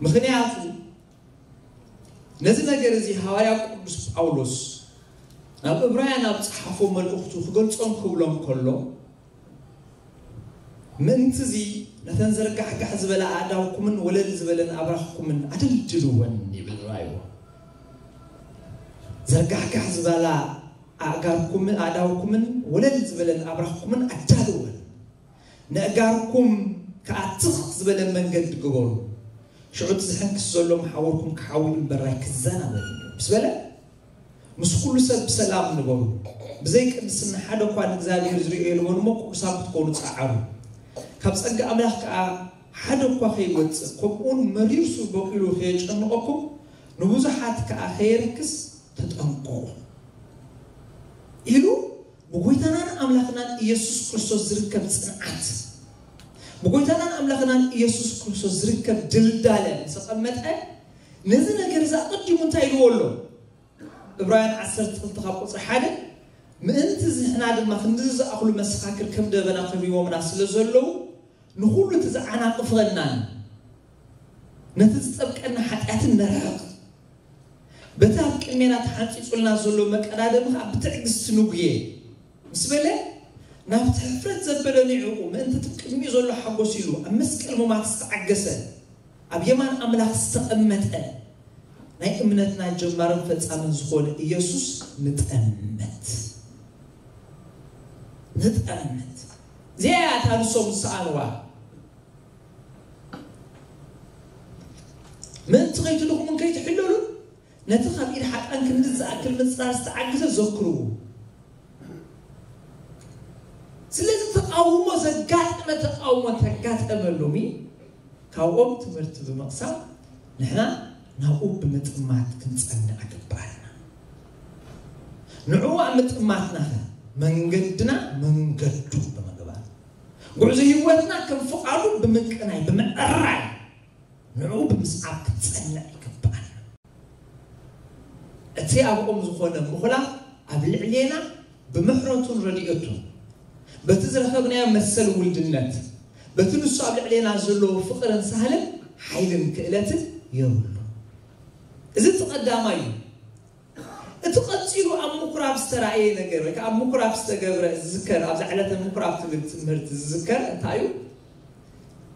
ምኽንያቱ ነዚ ነገር እዚ ሃዋርያ ቅዱስ ጳውሎስ ናብ እብራውያን ኣብ ጸሓፎ መልእኽቱ ክገልጾም ክብሎም ከሎ፣ ምእንቲ እዚ ነተን ዘርጋሕጋሕ ዝበላ ኣእዳውኩምን ወለል ዝበለን ኣብራኽኩምን ኣደልድልወን ይብል ራእይዎ። ዘርጋሕጋሕ ዝበላ ኣእጋርኩምን ኣእዳውኩምን ወለል ዝበለን ኣብራኽኩምን ኣዳልወን። ነእጋርኩም ከኣ ትኽ ዝበለ መንገዲ ግበሩ። ሽዑ እቲ ዝሕንክስ ዘሎ መሓውርኩም ክሓዊ እምበራይ ክዘናበል እዩ። ምስ በለ፣ ምስ ኩሉ ሰብ ብሰላም ንበሩ። ብዘይ ቅድስና ሓደ እኳ ንእግዚኣብሔር ዝርእዮ የልቦን እሞ ቅዱሳን ክትኮኑ ጸዓሩ። ካብ ጸጋ ኣምላኽ ከኣ ሓደ እኳ ከይወጽእ፣ ከምኡውን መሪር ሱር በቂሉ ከየጨንቐኩም፣ ንብዙሓት ከኣ ከየርክስ ተጠንቀቑ ኢሉ ብጎይታናን ኣምላኽናን ኢየሱስ ክርስቶስ ዝርከብ ጽንዓት፣ ብጎይታናን ኣምላኽናን ኢየሱስ ክርስቶስ ዝርከብ ድልዳለ ምስ ኣቐመጠ፣ ነዚ ነገር እዚ ኣቐዲሙ እንታይ ኢልዎ ኣሎ? ዕብራውያን ዓሰርተ ክልተ ካብ ቁጽሪ ሓደ፣ ምእንቲ ንሕና ድማ ክንድዚ ዝኣኽሉ መሰኻክር ከም ደበና ከቢቦምና ስለ ዘለዉ፣ ንኹሉ እቲ ዝዓናቕፈናን ነቲ ዝጠብቀና ሓጢኣትን ነርሕቕ። በቲ ኣብ ቅድሜና ተሓንጺጹልና ዘሎ መቀዳደሚ ኸኣ ብትዕግስቲ ንጉየ ምስ በለ፣ ናብቲ ሕፍረት ዘበለ ንዕኡ ምእንቲ እቲ ቅድሚኡ ዘሎ ሓጎስ ኢሉ ኣብ መስቀል ሙማት ዝተዓገሰ፣ ኣብ የማን ኣምላኽ ዝተቐመጠ ናይ እምነትና ጀማርን ፈጻምን ዝኾነ ኢየሱስ ንጠምት። ንጠምት። እዚኣ እያ እታ ንሶም ዝሰኣንዋ። ምእንቲ ከይትድኽሙን ከይትሕለሉን ነቲ ካብ ኢድ ሓጥኣን ክንዲ ዝኣክል ምጽራር ዝተዓግሰ ዘክርዎ። ስለዚ ተቃውሞ ዘጋጠመ ተቃውሞ ተጋጠመ ሎሚ ካብኦም ትምህርቲ ብምቕሳም ንሕና ናብኡ ብምጥማት ክንጸንዕ ግባእና። ንዕኡ ኣብ ምጥማትናኸ መንገድና መንገዱ ብምግባር ጉዕዞ ህይወትና ከም ፍቓዱ ብምቅናይ ብምዕራይ ንዕኡ ብምስዓብ ክንጸንዕ ይግባእና። እቲ ኣብኦም ዝኾነ ምኹላፍ ኣብ ልዕሌና ብምሕረቱን ረድኤቱን በቲ ዝረኸብናዮ መሰል ውልድነት በቲ ንሱ ኣብ ልዕሌና ዘለዎ ፍቕርን ሳህልን ሓይልን ክእለትን የብሉ። እዚ እቲ ቀዳማይ እዩ። እቲ ቀጺሉ ኣብ ምኩራብ ዝተራእየ ነገር ወይ ከዓ ኣብ ምኩራብ ዝተገብረ ዝዝከር ኣብዛ ዕለተ ምኩራብ ትብል ትምህርቲ ዝዝከር እንታይ እዩ?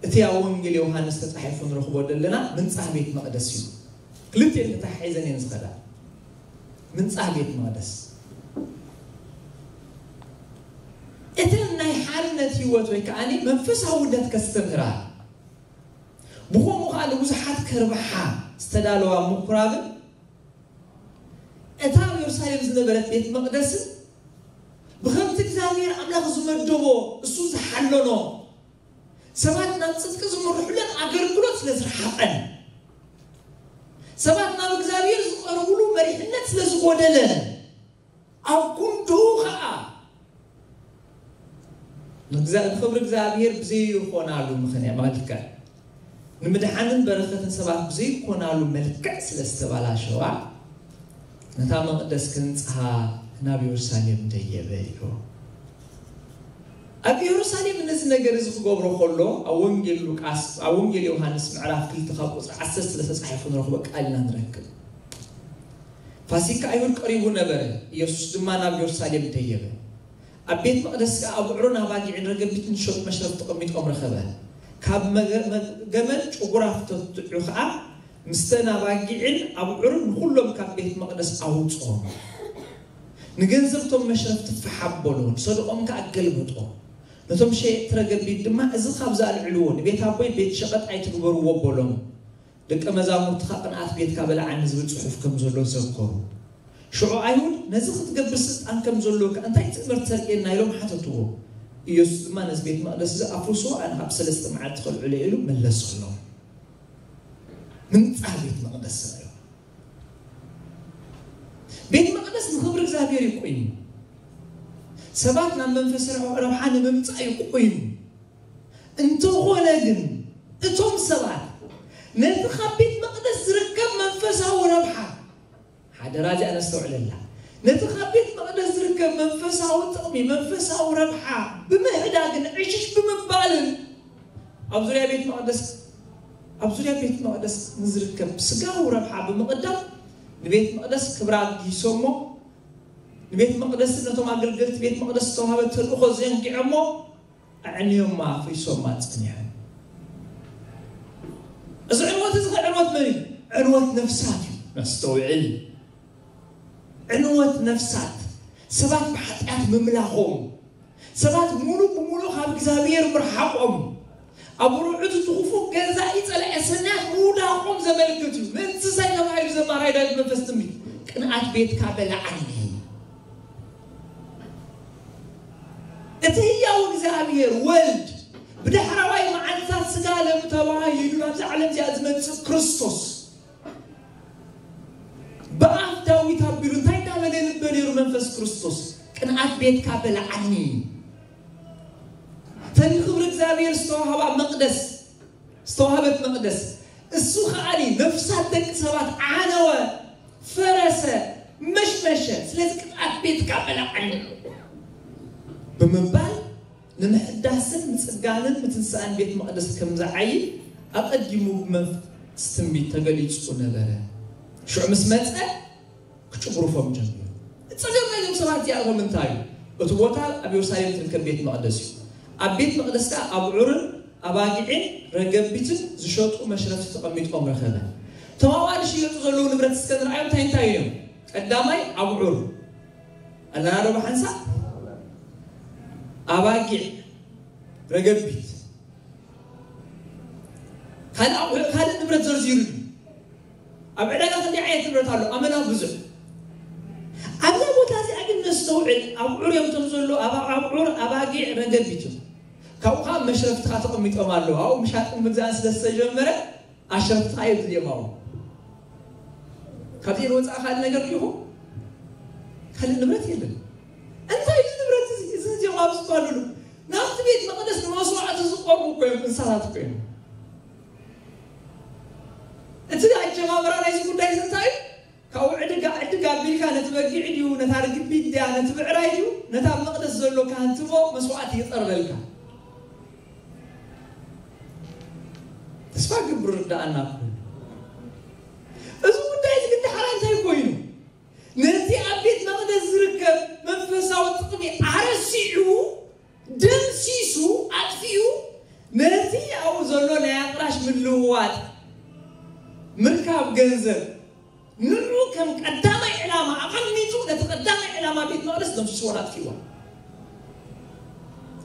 እቲ ኣብ ወንጌል ዮሃንስ ተጻሒፉ ንረኽቦ ዘለና ምንጻህ ቤት መቕደስ እዩ። ክልቲኤን ተተሓሒዘን እየን ዝኸዳ። ምንጻህ ቤት መቕደስ እተን ናይ ሓርነት ህይወት ወይ ከዓ መንፈሳውነት ከስተምህራ ብኸምኡ ከዓ ንብዙሓት ከርብሓ ዝተዳለዋ ምኩራብን እታ ኣብ የሩሳሌም ዝነበረት ቤት መቕደስን ብኸምቲ እግዚኣብሔር ኣምላኽ ዝመደቦ እሱ ዝሓለኖ ሰባት ናብ ጽድቂ ዝምርሑለን ኣገልግሎት ስለ ዝረሓቐን ሰባት ናብ እግዚኣብሔር ዝቐርቡሉ መሪሕነት ስለ ዝጎደለ ኣብ ጉንድኡ ኸዓ ንእግዚኣ- ንኽብሪ እግዚኣብሔር ብዘይኮናሉ ምኽንያት መልክዕ ንምድሓንን በረኸትን ሰባት ብዘይኮናሉ መልክዕ ስለ ዝተባላሸዋ ነታ መቕደስ ክንጽሃ ናብ የሩሳሌም ደየበ ኢሉ። ኣብ የሩሳሌም ነዚ ነገር እዚ ክገብሮ ከሎ ኣብ ወንጌል ሉቃስ ኣብ ወንጌል ዮሃንስ ምዕራፍ ክልተ ካብ ቁፅሪ ዓሰርተ ስለ ተፃሒፉ ንረኽቦ ቃል ኢና ንረክብ። ፋሲካ ኣይሁድ ቀሪቡ ነበረ። ኢየሱስ ድማ ናብ የሩሳሌም ደየበ። ኣብ ቤት መቕደስ ከኣ ኣቡዕሩን ኣባጊዕን ረገቢትን ሸጡ መሽረፍ ተቐሚጦም ረኸበ። ካብ መገ- መ- ገመድ ጭጉራፍ ተትዑ ከኣ ምስተን ኣባጊዕን ኣቡዕሩን ንኹሎም ካብ ቤት መቕደስ ኣውጽኦም። ንገንዘብቶም መሽረፍቲ ፋሕ ኣበሎ፣ ንሰደቖም ከኣ ገልበጦ። ነቶም ሸየጥቲ ረገቢት ድማ፣ "እዚ ካብዚ ኣልዕልዎ፣ ንቤት ኣቦይ ቤት ሸቐጥ ኣይትግበርዎ" በሎም። ደቀ መዛሙርትኻ ቅንኣት ቤትካ በልዓኒ ዝብል ጽሑፍ ከም ዘሎ ዘከሩ። ሽዑ ኣይሁድ፣ "ነዚ ክትገብር ስልጣን ከም ዘለወካ እንታይ ትእምር ተርእየና?" ኢሎም ሓተትዎ። ኢየሱስ ድማ፣ "ነዚ ቤት መቕደስ እዚ ኣፍርስዎ፣ ኣነ ካብ ሰለስተ መዓልቲ ከልዕሎ" ኢሉ መለሰሎም። ምንጻህ ቤት መቕደስ ራእዩ። ቤት መቕደስ ንኽብሪ እግዚኣብሔር እዩ ኮይኑ። ሰባት ናብ መንፈስ ረብሓ ንምምጻእ እዩ ኮይኑ። እንተኾነ ግን እቶም ሰባት ነቲ ካብ ቤት መቕደስ ዝርከብ መንፈሳዊ ረብሓ፣ ሓደራ እዚኣ ነስተውዕለላ፣ ነቲ ካብ ቤት መቕደስ ዝርከብ መንፈሳዊ ጥቕሚ፣ መንፈሳዊ ረብሓ ብምሕዳግን ዕሽሽ ብምባልን ኣብ ዙርያ ቤት መቕደስ ኣብ ዙርያ ቤት መቕደስ ንዝርከብ ስጋዊ ረብሓ ብምቕዳም ንቤት መቕደስ ክብራ ኣጊሶሞ፣ ንቤት መቕደስን ነቶም ኣገልገልቲ ቤት መቕደስ ዝተዋህበ ተልእኾ ዘንጊዖሞ ኣዕንዮማ ኣፍሪሶማ ጸኒሖም። እዚ ዕንወት እዚ ዕንወት መን እዩ? ዕንወት ነፍሳት እዩ። ነስተውዕል። ዕንወት ነፍሳት ሰባት ብሓጢኣት ምምላኾም ሰባት ሙሉእ ብሙሉእ ካብ እግዚኣብሔር ምርሓቆም ኣብ ርዑት እቲ ክፉእ ገዛኢ ጸላኢ ሰናያት ምውዳቆም ዘመልክት እዩ። ምእንቲ እንታይ ተባሂሉ ዘማራይ ዳዊት መንፈስ ትንቢት ቅንኣት ቤትካ በላዓኒ። እቲ ህያው እግዚኣብሔር ወልድ ብዳሕራዋይ መዓልትታት ስጋ ለም ተባሂሉ ናብዛ ዓለም እዚኣ ዝመጽእ ክርስቶስ ብኣፍ ዳዊት ኣቢሉ እንታይ እንዳበለ ይንበ ነይሩ መንፈስ ክርስቶስ? ቅንኣት ቤትካ በልዓኒ። ተን ንክብሪ እግዚኣብሔር ዝተዋህባ መቅደስ ዝተዋህበት መቅደስ እሱ ከዓኒ ነፍሳት ደቂ ሰባት ዓነወ፣ ፈረሰ፣ መሽመሸ። ስለዚ ቅንኣት ቤትካ በልዓኒ ብምባል ንምሕዳስን ምጽጋንን ምትንሳእን ቤት መቕደስ ከም ዝዓይ ኣቐዲሙ ብመንፈስ ትንቢት ተገሊጹ ነበረ። ሽዑ ምስ መጸ ክጭጉርፎም ጀሚሩ። ጸገም ናይዞም ሰባት እዚኣቶም እንታይ እዩ? እቲ ቦታ ኣብ የሩሳሌም ትርከብ ቤት መቕደስ እዩ። ኣብ ቤት መቕደስ ከኣ ኣብዑርን ኣባጊዕን ረገቢትን ዝሸጡ መሽረፍቲ ተቐሚጦም ረኸበ። እቶም ኣብኣ ዝሽየጡ ዘለዉ ንብረት እስከ ንርኣዮም፣ እንታይ እንታይ እዮም? ቀዳማይ ኣብዑር፣ ኣለና ዶ ብሓንሳእ? ኣባጊዕ፣ ረገቢት፣ ካልእ ኣቑሑ፣ ካልእ ንብረት ዘርዚሩ እዩ። ኣብ ዕዳጋ ክንደይ ዓይነት ንብረት ኣሎ? ኣመና ብዙሕ። ኣብዛ ቦታ እዚኣ ግን ነስተውዕል። ኣብዑር እዮም እቶም ዘሎ፣ ኣብ ኣብዑር፣ ኣባጊዕ፣ ረገቢት እዮም። ካብኡ ከዓ መሽረፍትኻ ተቐሚጦም ኣለዉ። ኣብኡ ምሻጥን ምግዛእን ስለ ዝተጀመረ ኣሽረፍትኻ እዮም ዝድዮም ኣብኡ። ካብዚኦም ወፃእ ካልእ ነገር ዲኹ? ካልእ ንብረት የለን። እንታይ እዩ ንብረት እዚ? እዚ እዚኦም ኣብ ዝበሉሉ ናብቲ ቤት መቕደስ ንመስዋዕቲ ዝቐርቡ እኮ እዮም፣ እንስሳታት እኮ እዮም። እቲ ኣጀማምራ ናይዚ ጉዳይ እዚ እንታይ እዩ? ካብኡ ዕድጋ ዕድግ ኣቢልካ ነቲ በጊዕ ድዩ፣ ነታ ርግቢት ድያ፣ ነቲ ብዕራይ ድዩ፣ ነታ ኣብ መቕደስ ዘሎ ካህን ትቦ መስዋዕቲ ይቐርበልካ። ተስፋ ግብር ርዳኣና እኮ። እዚ ጉዳይ እዚ ግን ደሓራ እንታይ ኮይኑ? ነቲ ኣብ ቤት መቕደስ ዝርከብ መንፈሳዊ ጥቕሚ ኣረሲዑ፣ ደምሲሱ፣ ኣጥፊኡ፣ ነቲ ኣብኡ ዘሎ ናይ ኣቕራሽ ምልውዋጥ፣ ምርካብ ገንዘብ፣ ንዑ ከም ቀዳማይ ዕላማ ኣቐሚጡ፣ ነቲ ቀዳማይ ዕላማ ቤት መቕደስ ደምሲስዎን ኣጥፊእዎን።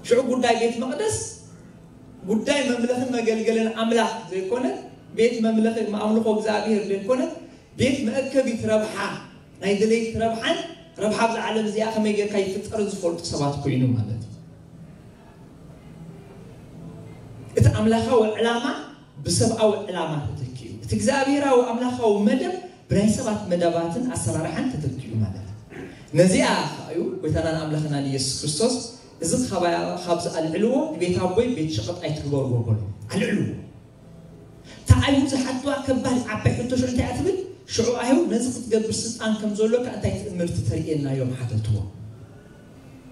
ሽዑ ጉዳይ ቤት መቕደስ ጉዳይ መምለኽን መገልገልን ኣምላኽ ዘይኮነ፣ ቤት መምለኺ ኣምልኾ እግዚኣብሔር ዘይኮነ፣ ቤት መእከቢት ረብሓ፣ ናይ ድሌት ረብሓን ረብሓ ኣብዛ ዓለም እዚኣ ከመይ ጌርካ ይፍጠርን ዝፈልጡ ሰባት ኮይኑ ማለት እዩ። እቲ ኣምላኻዊ ዕላማ ብሰብኣዊ ዕላማ ተተኪኡ፣ እቲ እግዚኣብሔራዊ ኣምላኻዊ መደብ ብናይ ሰባት መደባትን ኣሰራርሓን ተተኪኡ ማለት እዩ። ነዚኣ ከኣ እዩ ጎይታናን ኣምላኽናን ኢየሱስ ክርስቶስ፣ እዚ ካባይ፣ ካብዚ ኣልዕልዎ፣ ንቤት ኣቦይ ቤት ሸቐጥ ኣይትግበርዎ በሎ። ኣልዕልዎ። እታ ኣይሁድ ዝሓትዋ ከባድ ዓባይ ሕቶ ሽዑ እንታይ እያ ትብል? ሽዑ ኣይሁድ ነዚ ክትገብር ስልጣን ከም ዘሎካ እንታይ ትእምርቲ ተርእየና እዮም ሓተትዎ።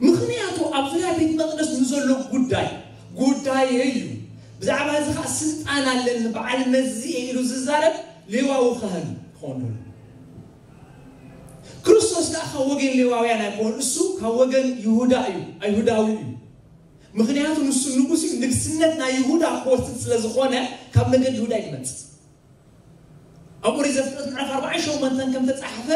ምኽንያቱ ኣብ ዙርያ ቤት መቕደስ ንዘሎ ጉዳይ ጉዳይ እዩ። ብዛዕባ እዚ ኸዓ ስልጣን ኣለኒ፣ በዓል መዚ እየ ኢሉ ዝዛረብ ሌዋዊ ካህን ክኸውን ደሎ። ክርስቶስ ከዓ ካብ ወገን ሌዋውያን ኣይኮን፣ እሱ ካብ ወገን ይሁዳ እዩ፣ ኣይሁዳዊ እዩ። ምኽንያቱ ንሱ ንጉስ እዩ፣ ንግስነት ናይ ይሁዳ ክወስድ ስለ ዝኾነ ካብ ነገድ ይሁዳ እዩ ዝመጽእ። ኣብ ኦሪት ዘፍጥረት ምዕራፍ ኣርባዓን ሸሞንተን ከም ተጻሕፈ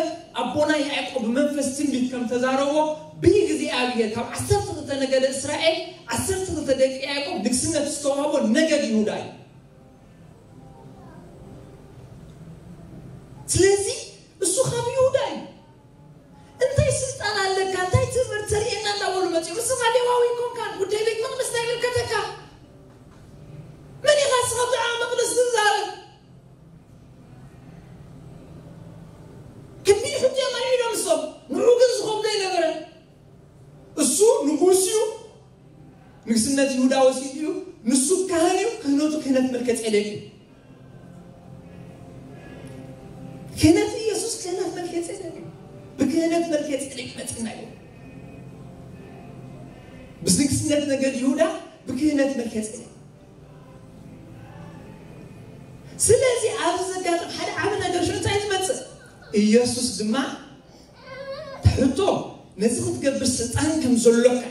ኣቦና ያዕቆብ ብመንፈስ ትንቢት ከም ተዛረቦ ብይ ግዜ ኣብሔር ካብ ዓሰርተ ክልተ ነገደ እስራኤል ዓሰርተ ክልተ ደቂ ያዕቆብ ንግስነት ዝተዋህቦ ነገድ ይሁዳ እዩ። ስለዚ እሱ ካብ ይሁዳ እዩ። እንታይ ስልጣን ኣለካ? እንታይ ትምህርቲ ተርእየና? እንዳበሉ መፅኡ። ንስኻ ሌዋዊ ኮንካን ጉዳይ ቤት መቕደስ እንታይ ይምልከተካ? መን ኢኻ ንስኻ ብዛዕባ መቕደስ ትዛረብ? ከቢድ ሕቶ እዮም ኣልዒሎም እሶም። ንዑ ግን ዝኸብዶ ኣይነበረን። እሱ ንጉስ እዩ። ንግስነት ይሁዳ ወሲዱ እዩ። ንሱ ካህን እዩ። ክህነቱ ክህነት መልከ ጼዴቅ እዩ። ክህነት ኢየሱስ ክህነት መልከ ጼዴቅ እዩ። ብክህነት መልከ ጼዴቅ መፅና እዩ። ብንግስነት ነገድ ይሁዳ ብክህነት መልከ ጼዴቅ። ስለዚ ኣብዚ ዘጋጥም ሓደ ዓቢ ነገር ሽዑ እንታይ ዝመፅእ? ኢየሱስ ድማ ትሕቶ ነዚ ክትገብር ስልጣን ከም ዘሎካ፣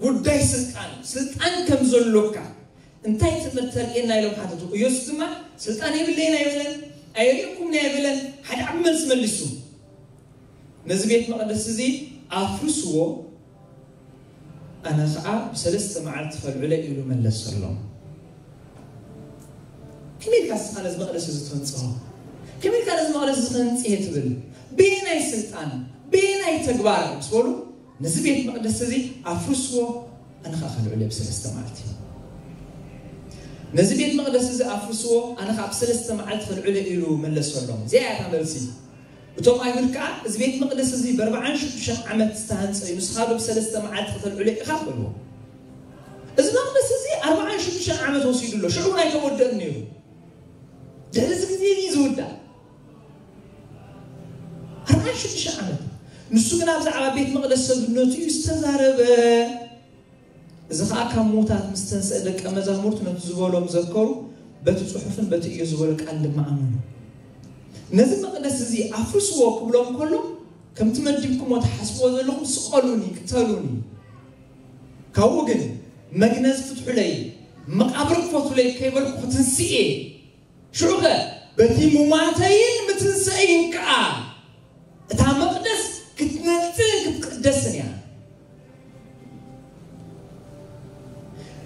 ጉዳይ ስልጣን፣ ስልጣን ከም ዘሎካ እንታይ ትምህርቲ ተርእየና ኢሎም ሓተቱ። ኢየሱስ ድማ ስልጣን የብለይን ኣይበለን፣ ኣየርእኩምን ኣይበለን። ሓደ ዓቢ መልሲ መሊሱ፣ ነዚ ቤት መቕደስ እዚ ኣፍርስዎ፣ ኣነ ኸዓ ብሰለስተ መዓልቲ ፈልዑለ ኢሉ መለሰሎም። ከመይ ኢልካ ንስኻ ነዚ መቕደስ እዚ ትህንጽሆ? ከመይ ኢልካ ነዚ መቕደስ እዚ ክህንጽ እየ ትብል? በየናይ ስልጣን? በየናይ ተግባር? ምስ በሉ፣ ነዚ ቤት መቕደስ እዚ ኣፍርስዎ፣ ኣነ ኸዓ ከልዕሎ እየ ብሰለስተ መዓልቲ። ነዚ ቤት መቕደስ እዚ ኣፍርስዎ፣ ኣነ ኸዓ ብሰለስተ መዓልቲ ከልዕሎ እየ ኢሉ መለሰሎም። እዚኣ እያ እታ መልሲ። እቶም ኣይሁድ ከኣ፣ "እዚ ቤት መቕደስ እዚ ብኣርብዓን ሽዱሽተን ዓመት ዝተሃንጸ እዩ፣ ንስኻ ዶ ብሰለስተ መዓልቲ ከተልዕሎ ኢኻ?" በልዎ። እዚ መቕደስ እዚ ኣርብዓን ሽዱሽተን ዓመት ወሲዱ ኣሎ፣ ሽዑ እውን ኣይተወድአን ነይሩ። ድሕሪ እዚ ግዜ እዩ ዝውዳእ። ኣርብዓን ሽዱሽተ ዓመት። ንሱ ግና ብዛዕባ ቤት መቕደስ ሰብነቱ እዩ ዝተዛረበ። እዚ ኸኣ ካብ ምዉታት ምስ ተንስአ ደቀ መዛሙርቱ ነቲ ዝበሎም ዘከሩ፣ በቲ ጽሑፍን በቲ እዮ ዝበሎ ቃል ድማ ኣመኑ። ነዚ መቕደስ እዚ ኣፍርስዎ ክብሎም ከሎ፣ ከምቲ መዲብኩሞ ትሓስብዎ ዘለኹም ስቐሉኒ፣ ቅተሉኒ። ካብኡ ግን መግነዝ ፍትሑለይ፣ መቓብር ክፈቱለይ ከይበልኩ ክትንስእ እየ። ሽዑ ኸ በቲ ሙማተይን ምትንስአይን ከኣ እታ መቕደስ ክትነጽን ክትቅደስን እያ።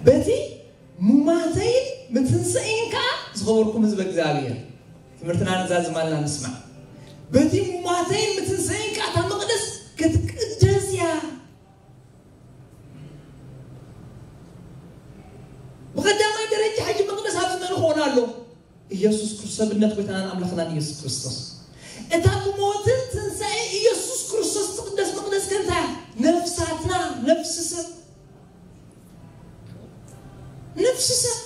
በቲ ሙማተይን ምትንስአይን ከኣ ዝኸበርኩም ህዝበ እግዚኣብሔር፣ ትምህርትና ንዛዝም ኣልና ንስማዕ። በቲ ሙማተይን ምትንስአይን ከኣ እታ መቕደስ ክትቅደስ እያ። ብቐዳማይ ደረጃ ሕጂ መቕደስ ኣብዚ መን ክኾን ኣሎ? ኢየሱስ ክርስቶስ፣ ሰብነት ጎይታናን ኣምላኽናን ኢየሱስ ክርስቶስ። እታ ብሞትን ትንሳኤ ኢየሱስ ክርስቶስ ትቕደስ መቕደስ ከ እንታይ እያ? ነፍሳትና፣ ነፍሲ ሰብ፣ ነፍሲ ሰብ።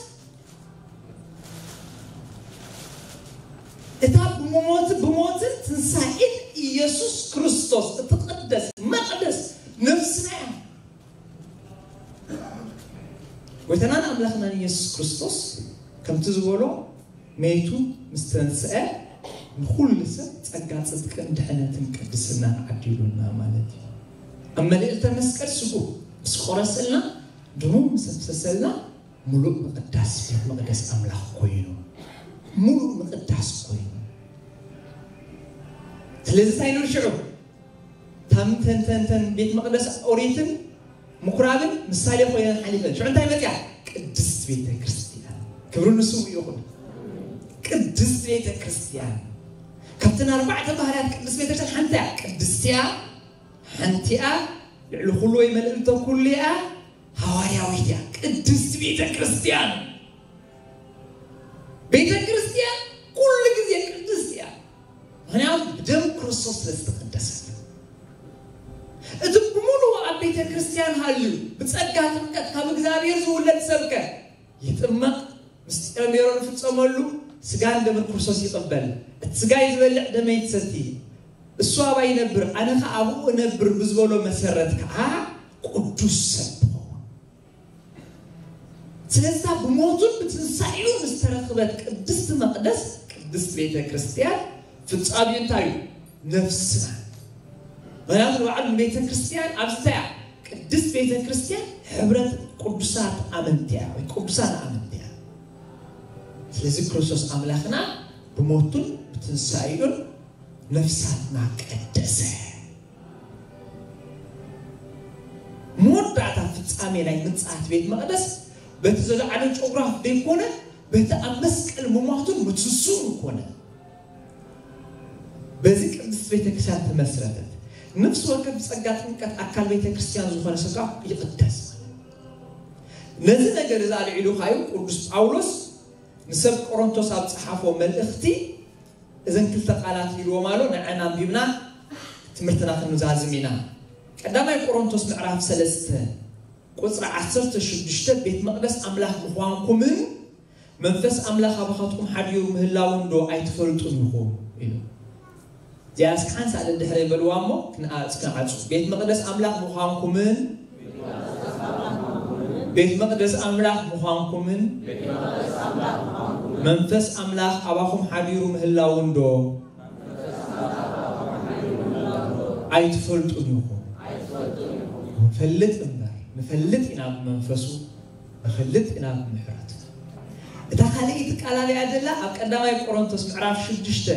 እታ ብሞት፣ ብሞትን ትንሳኤን ኢየሱስ ክርስቶስ እትቕደስ መቕደስ ነፍስና እያ። ጎይታናን ኣምላኽናን ኢየሱስ ክርስቶስ ከምቲ ዝበሎ፣ መይቱ ምስ ተንስአ ንኹሉ ሰብ ጸጋ ጽድቅን ድሕነትን ቅድስናን ዓዲሉና ማለት እዩ። ኣብ መልዕልተ መስቀል ስጉ ምስ ቆረሰልና፣ ደሙ ምስ ኣፍሰሰልና፣ ምሉእ ምቕዳስ ቤት መቕደስ ኣምላኽ ኮይኑ፣ ምሉእ ምቕዳስ ኮይኑ። ስለዚ እንታይ ንብል ሽዑ? ታም ተን፣ ተን፣ ተን ቤት መቕደስ ኦሪትን ምኩራብን ምሳሌ ኮይነን ሓሊፈን። ሽዑ እንታይ መጽያ? ቅድስት ቤተ ክርስቲያን። ክብሪ ንስሙ ይኹን። ቅድስት ቤተ ክርስቲያን። ካብተን ኣርባዕተ ባህርያት ቅድስት ቤተ ክርስቲያን ሓንቲ እያ። ቅድስት እያ፣ ሓንቲ እያ፣ ልዕሊ ኩሉ ወይ መልእልተ ኩሉ እያ፣ ሃዋርያዊት እያ። ቅድስት ቤተ ክርስቲያን። ቤተ ክርስቲያን ኩሉ ግዜ ቅድስት እያ። ምኽንያቱ ብደም ክርስቶስ ስለ ዝተቐደሰት። እቲ ብምሉኡ ኣብ ቤተ ክርስቲያን ሃልዩ ብጸጋ ጥምቀት ካብ እግዚኣብሔር ዝውለድ ሰብከ ይጥመቕ፣ ምስጢረ ሜሮን ይፍጸመሉ፣ ስጋን ደምን ክርስቶስ ይቕበል። እቲ ስጋይ ዝበልዕ ደመይ ትሰቲ፣ እሱ ኣባይ ይነብር፣ ኣነ ኸኣ ኣብኡ እነብር ብዝበሎ መሰረት ከኣ ቅዱስ ሰብ ትኸውን። ስለዛ ብሞቱን ብትንሳኤኡን ዝተረኽበት ቅድስቲ መቕደስ፣ ቅድስቲ ቤተ ክርስቲያን፣ ፍጻሜኡ እንታይ እዩ? ነፍስና። ምኽንያቱ ንባዕሉ ቤተ ክርስቲያን ኣብዚ እንታይ እያ? ቅድስት ቤተ ክርስቲያን ሕብረት ቅዱሳት ኣመንቲ እያ፣ ወይ ቅዱሳን ኣመንቲ እያ። ስለዚ ክርስቶስ ኣምላኽና ብሞቱን ብትንሳኤኡን ነፍሳትና ቀደሰ። መወዳእታ ፍጻሜ ናይ ምጽኣት ቤት መቕደስ በቲ ዘለዓለ ጨጉራፍ ዘይኮነ፣ በቲ ኣብ መስቀል ምሟቱን ምትንስኡን ኮነ። በዚ ቅድስት ቤተ ክርስቲያን ተመስረተት። ነፍሲ ወከፍ ብጸጋ ጥምቀት ኣካል ቤተ ክርስቲያን ዝኾነ ሰብ ከዓ ይቕደስ። ነዚ ነገር እዚ ኣልዒሉ ከዓ እዩ ቅዱስ ጳውሎስ ንሰብ ቆሮንቶስ ኣብ ጸሓፎ መልእኽቲ እዘን ክልተ ቃላት ኢልዎም ኣሎ። ንዐን ኣንቢብና ትምህርትና ክንዛዝም ኢና። ቀዳማይ ቆሮንቶስ ምዕራፍ ሰለስተ ቁጽሪ ዓሰርተ ሽዱሽተ፣ ቤት መቕደስ ኣምላኽ ምዃንኩምን መንፈስ ኣምላኽ ኣባኻትኩም ሓዲሩ ምህላውን ዶ ኣይትፈልጡን ኢኹም? ኢሉ። እዚኣ እስኪ ሓንሳእ ደድሕረይ በልዋ እሞ ክንኣ-፣ ክንዓጹ። ቤት መቕደስ ኣምላኽ ምዃንኩምን፣ ቤት መቕደስ ኣምላኽ ምዃንኩምን፣ መንፈስ ኣምላኽ ኣባኹም ሓዲሩ ምህላውን ዶ ኣይትፈልጡን ኢኹም? ንፈልጥ እምበር፣ ንፈልጥ ኢና ብመንፈሱ፣ ንፈልጥ ኢና ብምሕረቱ። እታ ካልኣይቲ ቃል ኣበይ እያ ዘላ? ኣብ ቀዳማይ ቆሮንቶስ ምዕራፍ ሽዱሽተ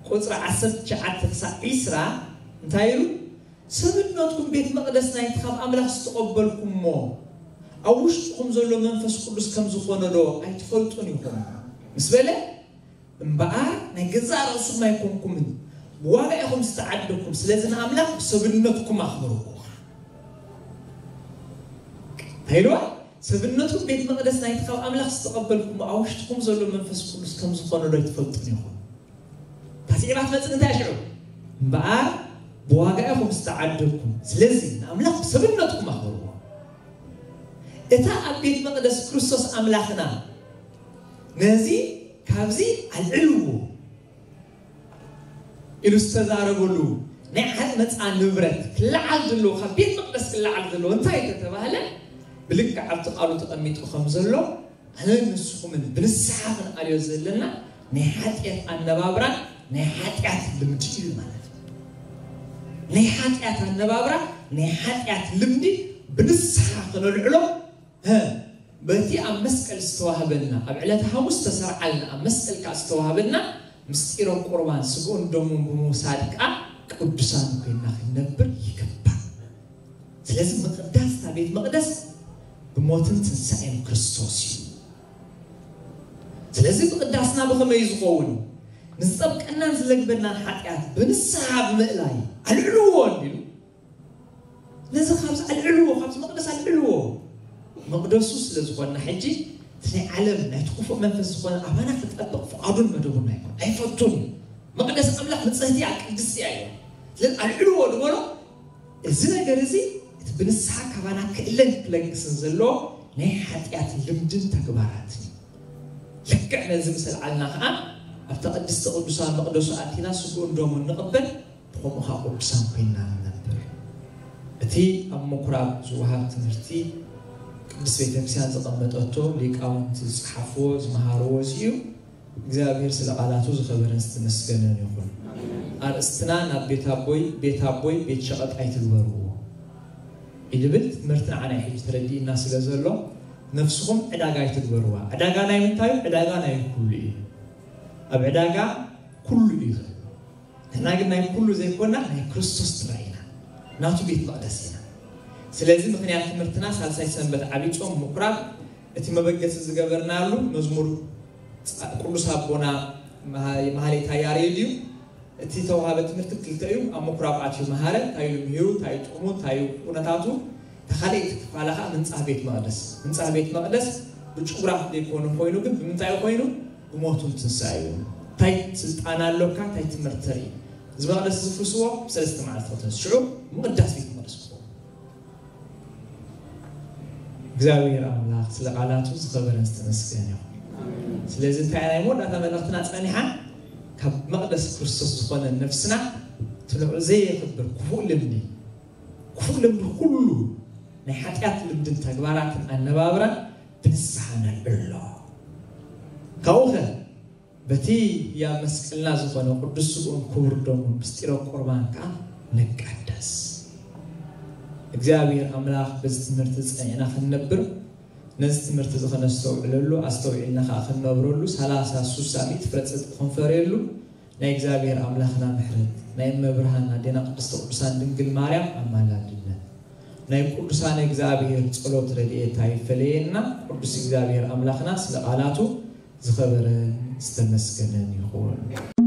ቁጽሪ ዓሰርተ ትሽዓተ ክሳዕ ዒስራ እንታይ ኢሉ? ሰብነትኩም ቤት መቕደስ ናይቲ ካብ ኣምላኽ ዝተቐበልኩሞ፣ ኣብ ውሽጥኹም ዘሎ መንፈስ ቅዱስ ከም ዝኾነ ዶ ኣይትፈልጡን ኢኹም? ምስ በለ፣ እምበኣር ናይ ገዛእ ርእስኹም ኣይኮንኩምን፣ ብዋጋ ኢኹም ዝተዓደግኩም፣ ስለዚ ንኣምላኽ ብሰብነትኩም ኣኽብርዎ። እንታይ ኢልዋ? ሰብነትኩም ቤት መቕደስ ናይቲ ካብ ኣምላኽ ዝተቐበልኩሞ፣ ኣብ ውሽጥኹም ዘሎ መንፈስ ቅዱስ ከም ዝኾነ ዶ ኣይትፈልጡን ኢኹም? እታ ስዒባ ትመጽእ እንታይ ሽዑ? እምበኣር ብዋጋ ኢኹም ዝተዓደግኩም፣ ስለዚ ንኣምላኽ ብሰብነትኩም ኣኽብርዎ። እታ ኣብ ቤት መቕደስ ክርስቶስ ኣምላኽና ነዚ ካብዚ ኣልዕልዎ ኢሉ ዝተዛረበሉ ናይ ዓመፃ ንብረት ክለዓል ዘለዎ፣ ካብ ቤት መቕደስ ክለዓል ዘለዎ እንታይ ተተባህለ? ብልክዕ ኣብቲ ቃሉ ተቐሚጡ ከም ዘሎ ኣነን ንስኹምን ብንስሓ ክንኣልዮ ዘለና ናይ ሓጢኣት ኣነባብራን ናይ ሓጢኣት ልምዲ እዩ ማለት እዩ። ናይ ሓጢኣት ኣነባብራ፣ ናይ ሓጢኣት ልምዲ ብንስሓ ክነልዕሎ ሀ፣ በቲ ኣብ መስቀል ዝተዋህበና፣ ኣብ ዕለተ ሓሙስ ዝተሰርዓልና፣ ኣብ መስቀል ከዓ ዝተዋህበና ምስጢረ ቁርባን ስግኡን ደሙን ብምውሳድ ከዓ ቅዱሳን ኮይና ክንነብር ይግባእ። ስለዚ ምቕዳስ እታ ቤት መቕደስ ብሞትን ትንሳኤን ክርስቶስ እዩ። ስለዚ ምቕዳስና ብኸመይ ዝኸውን? ንዝጠብቀናን ዝለግበናን ሓጢኣት ብንስሓ ብምእላይ ኣልዕልዎ እንዲሉ፣ ነዚ ካብዚ ኣልዕልዎ፣ ካብዚ መቕደስ ኣልዕልዎ። መቕደሱ ስለ ዝኾንና ሕጂ እቲ ናይ ዓለም ናይቲ ክፉእ መንፈስ ዝኾነ ኣባና ክጠብቕ ፍቓዱን መደቡን ኣይኮን ኣይፈቱን እዩ። መቕደስ ኣምላኽ ንጽህቲ እያ፣ ቅድስቲ እያ እዩ። ስለዚ ኣልዕልዎ ዝበሎ እዚ ነገር እዚ እቲ ብንስሓ ካባና ክእለን ክለግስን ዘለዎ ናይ ሓጢኣት ልምድን ተግባራትን እዩ። ልክዕ ነዚ ምስ ኣልዓልና ከዓ ኣብታ ቅድስቲ ቅዱሳን መቕደሱ ኣቲና ስግኡን ደሙን ንቕበል። ብኸምኡ ከዓ ቅዱሳን ኮይንና ንነብር። እቲ ኣብ ምኩራብ ዝወሃብ ትምህርቲ ቅድስት ቤተክርስትያን ዘቐመጠቶ፣ ሊቃውንቲ ዝጸሓፍዎ ዝመሃርዎ እዚ እዩ። እግዚኣብሔር ስለ ቃላቱ ዝኸበረን ዝተመስገነን ይኹን። ኣርእስትና ናብ ቤት ኣቦይ፣ ቤት ኣቦይ ቤት ሸቐጥ ኣይትግበርዎ ይብል ትምህርቲ ንዓና ሕጂ ተረዲእና ስለ ዘሎ፣ ነፍስኹም ዕዳጋ ኣይትግበርዋ። ዕዳጋ ናይ ምንታይ እዩ? ዕዳጋ ናይ ኩሉ እዩ። ኣብ ዕዳጋ ኩሉ እዩ ዘሎ። ንሕና ግን ናይ ኩሉ ዘይኮና ናይ ክርስቶስ ጥራይ ኢና። ናቱ ቤት መቕደስ ኢና። ስለዚ ምኽንያት ትምህርትና ሳልሳይ ሰንበት ዓብይ ጾም ምኩራብ እቲ መበገሲ ዝገበርናሉ መዝሙር ጻ-፣ ቅዱስ ኣቦና መሃ-፣ መሃሌታ ያሬድ እዩ። እቲ ተዋሃበ ትምህርቲ ክልተ እዩ። ኣብ ምኩራብ ኣትዩ መሃረ፣ እንታይ ኢሉ ምሂሩ፣ እንታይ እዩ ጥቕሙ፣ እንታይ እዩ ኩነታቱ። እታ ካልኣይቲ ክፋላ ከዓ ምንጻህ ቤት መቕደስ። ምንጻህ ቤት መቕደስ ብጭጉራ ዘይኮነ ኮይኑ ግን ብምንታይ ኮይኑ? ብሞቱን ትንሳኤ እዩ። እንታይ ስልጣን ኣለካ? እንታይ ትምህርቲ ተርኢ? እዚ መቕደስ ዝፍርስዎ ብሰለስተ መዓልቲ ክተንስሑ ምቕዳስ ቤት መቕደስ ክኸውን። እግዚኣብሔር ኣምላኽ ስለ ቃላቱ ዝኸበረን ዝተመስገነ ይኹን። ስለዚ እንታይ ናይ መወዳእታ መልእኽትና ጸኒሓ ካብ መቕደስ ክርስቶስ ዝኾነ ነፍስና ትንዑ ዘየኽብር ክፉእ ልምዲ፣ ክፉእ ልምዲ ኩሉ ናይ ሓጢኣት ልምድን ተግባራትን ኣነባብራን ብንስሓ ነልዕሎ። ካብኡ ኸ በቲ ህያብ መስቀልና ዝኾነ ቅዱስ ስግኡን ክቡር ደሙን ምስጢረ ቁርባን ከዓ ንቀደስ። እግዚኣብሔር ኣምላኽ በዚ ትምህርቲ ጸኒዕና ክንነብር፣ ነዚ ትምህርቲ እዚ ከነስተውዕለሉ፣ ኣስተውዒልና ከዓ ክንነብረሉ፣ ሰላሳ ሱሳ ሚእቲ ፍረ ጽድቂ ክንፈርየሉ ናይ እግዚኣብሔር ኣምላኽና ምሕረት፣ ናይ እመ ብርሃን ኣዴና ቅድስተ ቅዱሳን ድንግል ማርያም ኣማላድነት፣ ናይ ቅዱሳን እግዚኣብሔር ጸሎት ረድኤታ ይፈለየና። ቅዱስ እግዚኣብሔር ኣምላኽና ስለ ቃላቱ ዝኸበረን ዝተመስገነን ይኹን።